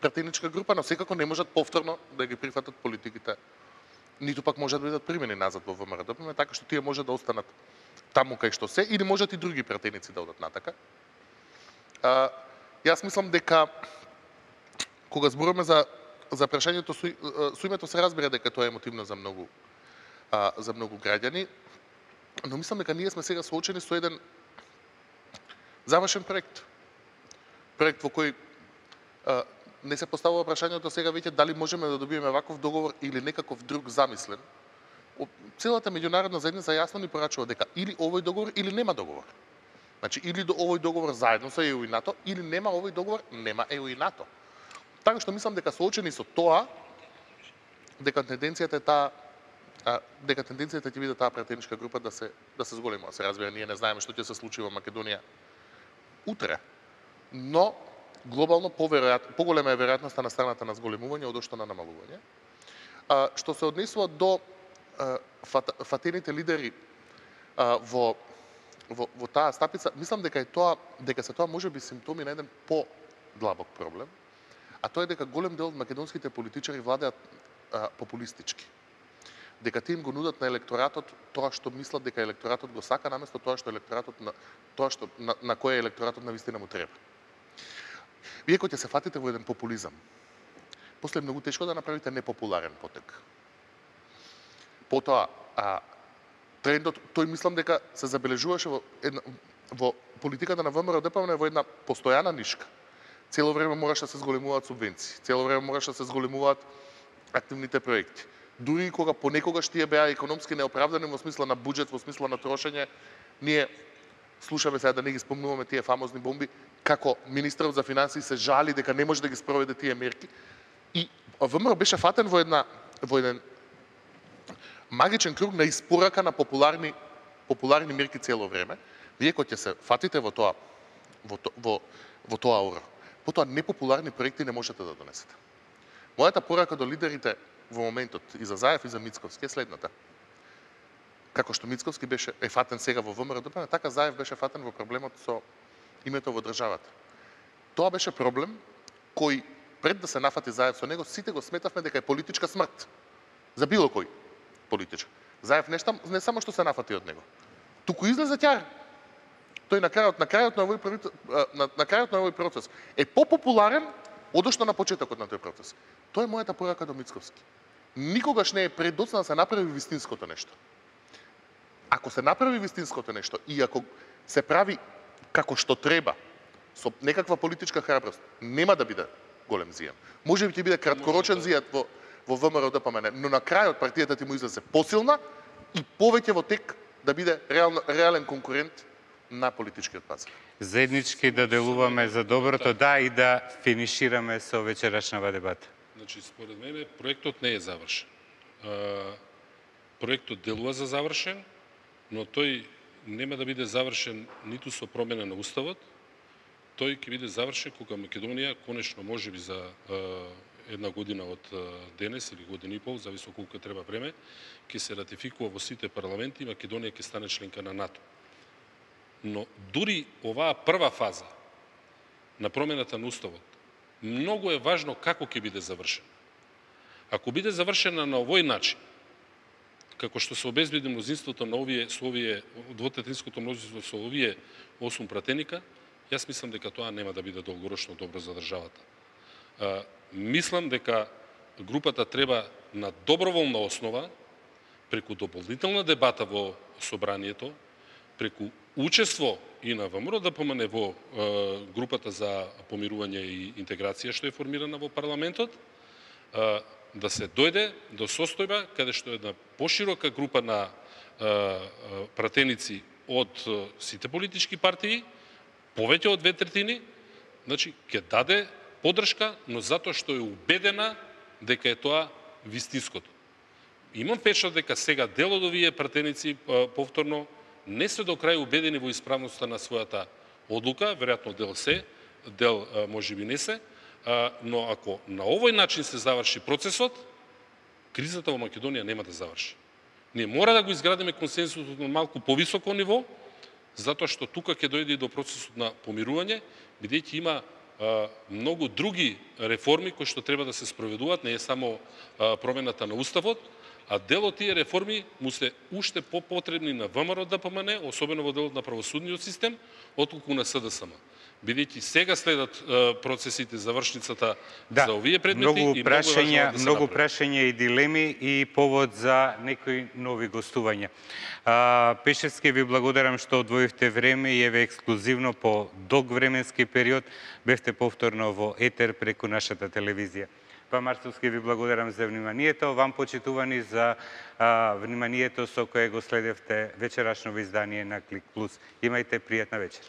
пратеничка група, но секако не можат повторно да ги прифатат политиките, ниту пак можат да бидат примени назад во ВМРО ДПМН, така што тие можат да останат таму кај што се, или можат и други пратеници да одат натака. Јас мислам дека кога зборуваме за прашањето со името се разбира дека тоа е емотивно за многу граѓани, но мислам дека ние сме сега соочени со еден завршен проект. Проект во кој не се поставува прашањето сега веќе дали можеме да добиеме ваков договор или некаков друг замислен. Целата меѓународна заедница јасно ни порачува дека или овој договор или нема договор. Значи или до овој договор заедно со ЕУ и НАТО, или нема овој договор, нема ЕУ и НАТО. Така што мислам дека соочени со тоа, дека тенденцијата ќе биде таа пратеничка група да се зголемува. Се разбира, ние не знаеме што ќе се случи во Македонија утре, но глобално поголема е веројатноста на страната на зголемување од што на намалување. Што се однесува до фатените лидери во таа стапица, мислам дека се тоа можеби симптоми на еден по-длабок проблем, а тоа е дека голем дел од македонските политичари владеат популистички. Дека тие им го нудат на електоратот тоа што мислат дека електоратот го сака, наместо тоа што на кој електоратот навистина му треба. Вие кога ќе се фатите во еден популизам, после е многу тешко да направите непопуларен потек. Потоа, трендот, тој мислам дека се забележуваше во политиката на ВМРО ДПМН во една постојана нишка. Цело време мораше да се зголемуваат субвенции, цело време мораше да се зголемуваат активните проекти. Дури кога понекогаш тие беа економски неоправдани во смисла на буџет, во смисла на трошење, ние слушаме сега да не ги спомнуваме тие фамозни бомби, како министерот за финансии се жали дека не може да ги спроведе тие мерки. И ВМРО беше фатен во еден магичен круг на испорака на популарни мерки цело време. Вие кога ќе се фатите во тоа оро, потоа непопуларни проекти не можете да донесете. Мојата порака до лидерите во моментот и за Заев и за Мицковски е следната. Како што Мицковски е фатен сега во ВМРО ДПМН, така Заев беше фатен во проблемот со името во државата. Тоа беше проблем кој пред да се нафати Заев со него, сите го сметавме дека е политичка смрт. За било кој политичар. Заев не само што се нафати од него, туку излезе тјар. Тој на крајот на овој процес е попопуларен одошто на почетокот на тој процес. Тоа е мојата порака до Мицковски. Никогаш не е предоцна да се направи вистинското нешто. Ако се направи вистинското нешто и ако се прави како што треба, со некаква политичка храброст, нема да биде голем зијан. Може би ќе биде краткорочен зијат во ВМРО ДПМН, но на крајот партијата ти му излезе посилна и повеќе во тек да биде реален конкурент на политичкиот пазар. Заеднички да делуваме за доброто, да, и да финишираме со вечерашнава дебата. Значи, според мене, проектот не е завршен. Проектот делува за завршен, но тој нема да биде завршен ниту со промена на Уставот, тој ќе биде завршен кога Македонија, конечно можеби за една година од денес или година и пол, зависи колку треба време, ќе се ратификува во сите парламенти и Македонија ќе стане членка на НАТО. Но дури оваа прва фаза на промената на Уставот, многу е важно како ќе биде завршена. Ако биде завршена на овој начин, како што се обезбеди мнозинството на двотретинското мнозинство со овие 8 пратеника, јас мислам дека тоа нема да биде долгорочно добро за државата. Мислам дека групата треба на доброволна основа, преку дополнителна дебата во собранието, преку учество и на ВМРО ДПМНЕ во групата за помирување и интеграција што е формирана во парламентот, да се дојде до состојба каде што една поширока група на пратеници од сите политички партии, повеќе од 2/3, значи ќе даде поддршка, но затоа што е убедена дека е тоа вистинското. Имам впечат дека сега дел од овие пратеници повторно не се до крај убедени во исправноста на својата одлука, веројатно дел се, дел можеби не се, но ако на овој начин се заврши процесот, кризата во Македонија нема да заврши. Ние мора да го изградиме консенсусот на малку повисоко ниво, затоа што тука ќе дојде и до процесот на помирување, бидејќи има многу други реформи кои што треба да се спроведуваат, не е само промената на уставот, а дел од тие реформи му се уште попотребни на ВМРО ДПМНЕ, особено во делот на правосудниот систем, отколку на СДСМ. Бидејќи сега следат процесите, завршницата за овие предмети и многу прашања и дилеми и повод за некои нови гостувања. Пешевски, ви благодарам што одвоивте време и еве ексклузивно по долг временски период бевте повторно во етер преку нашата телевизија. Па Марцовски, ви благодарам за вниманието, вам почитувани за вниманието со кое го следевте вечерашно издание на Клик Плюс. Имајте пријатна вечер.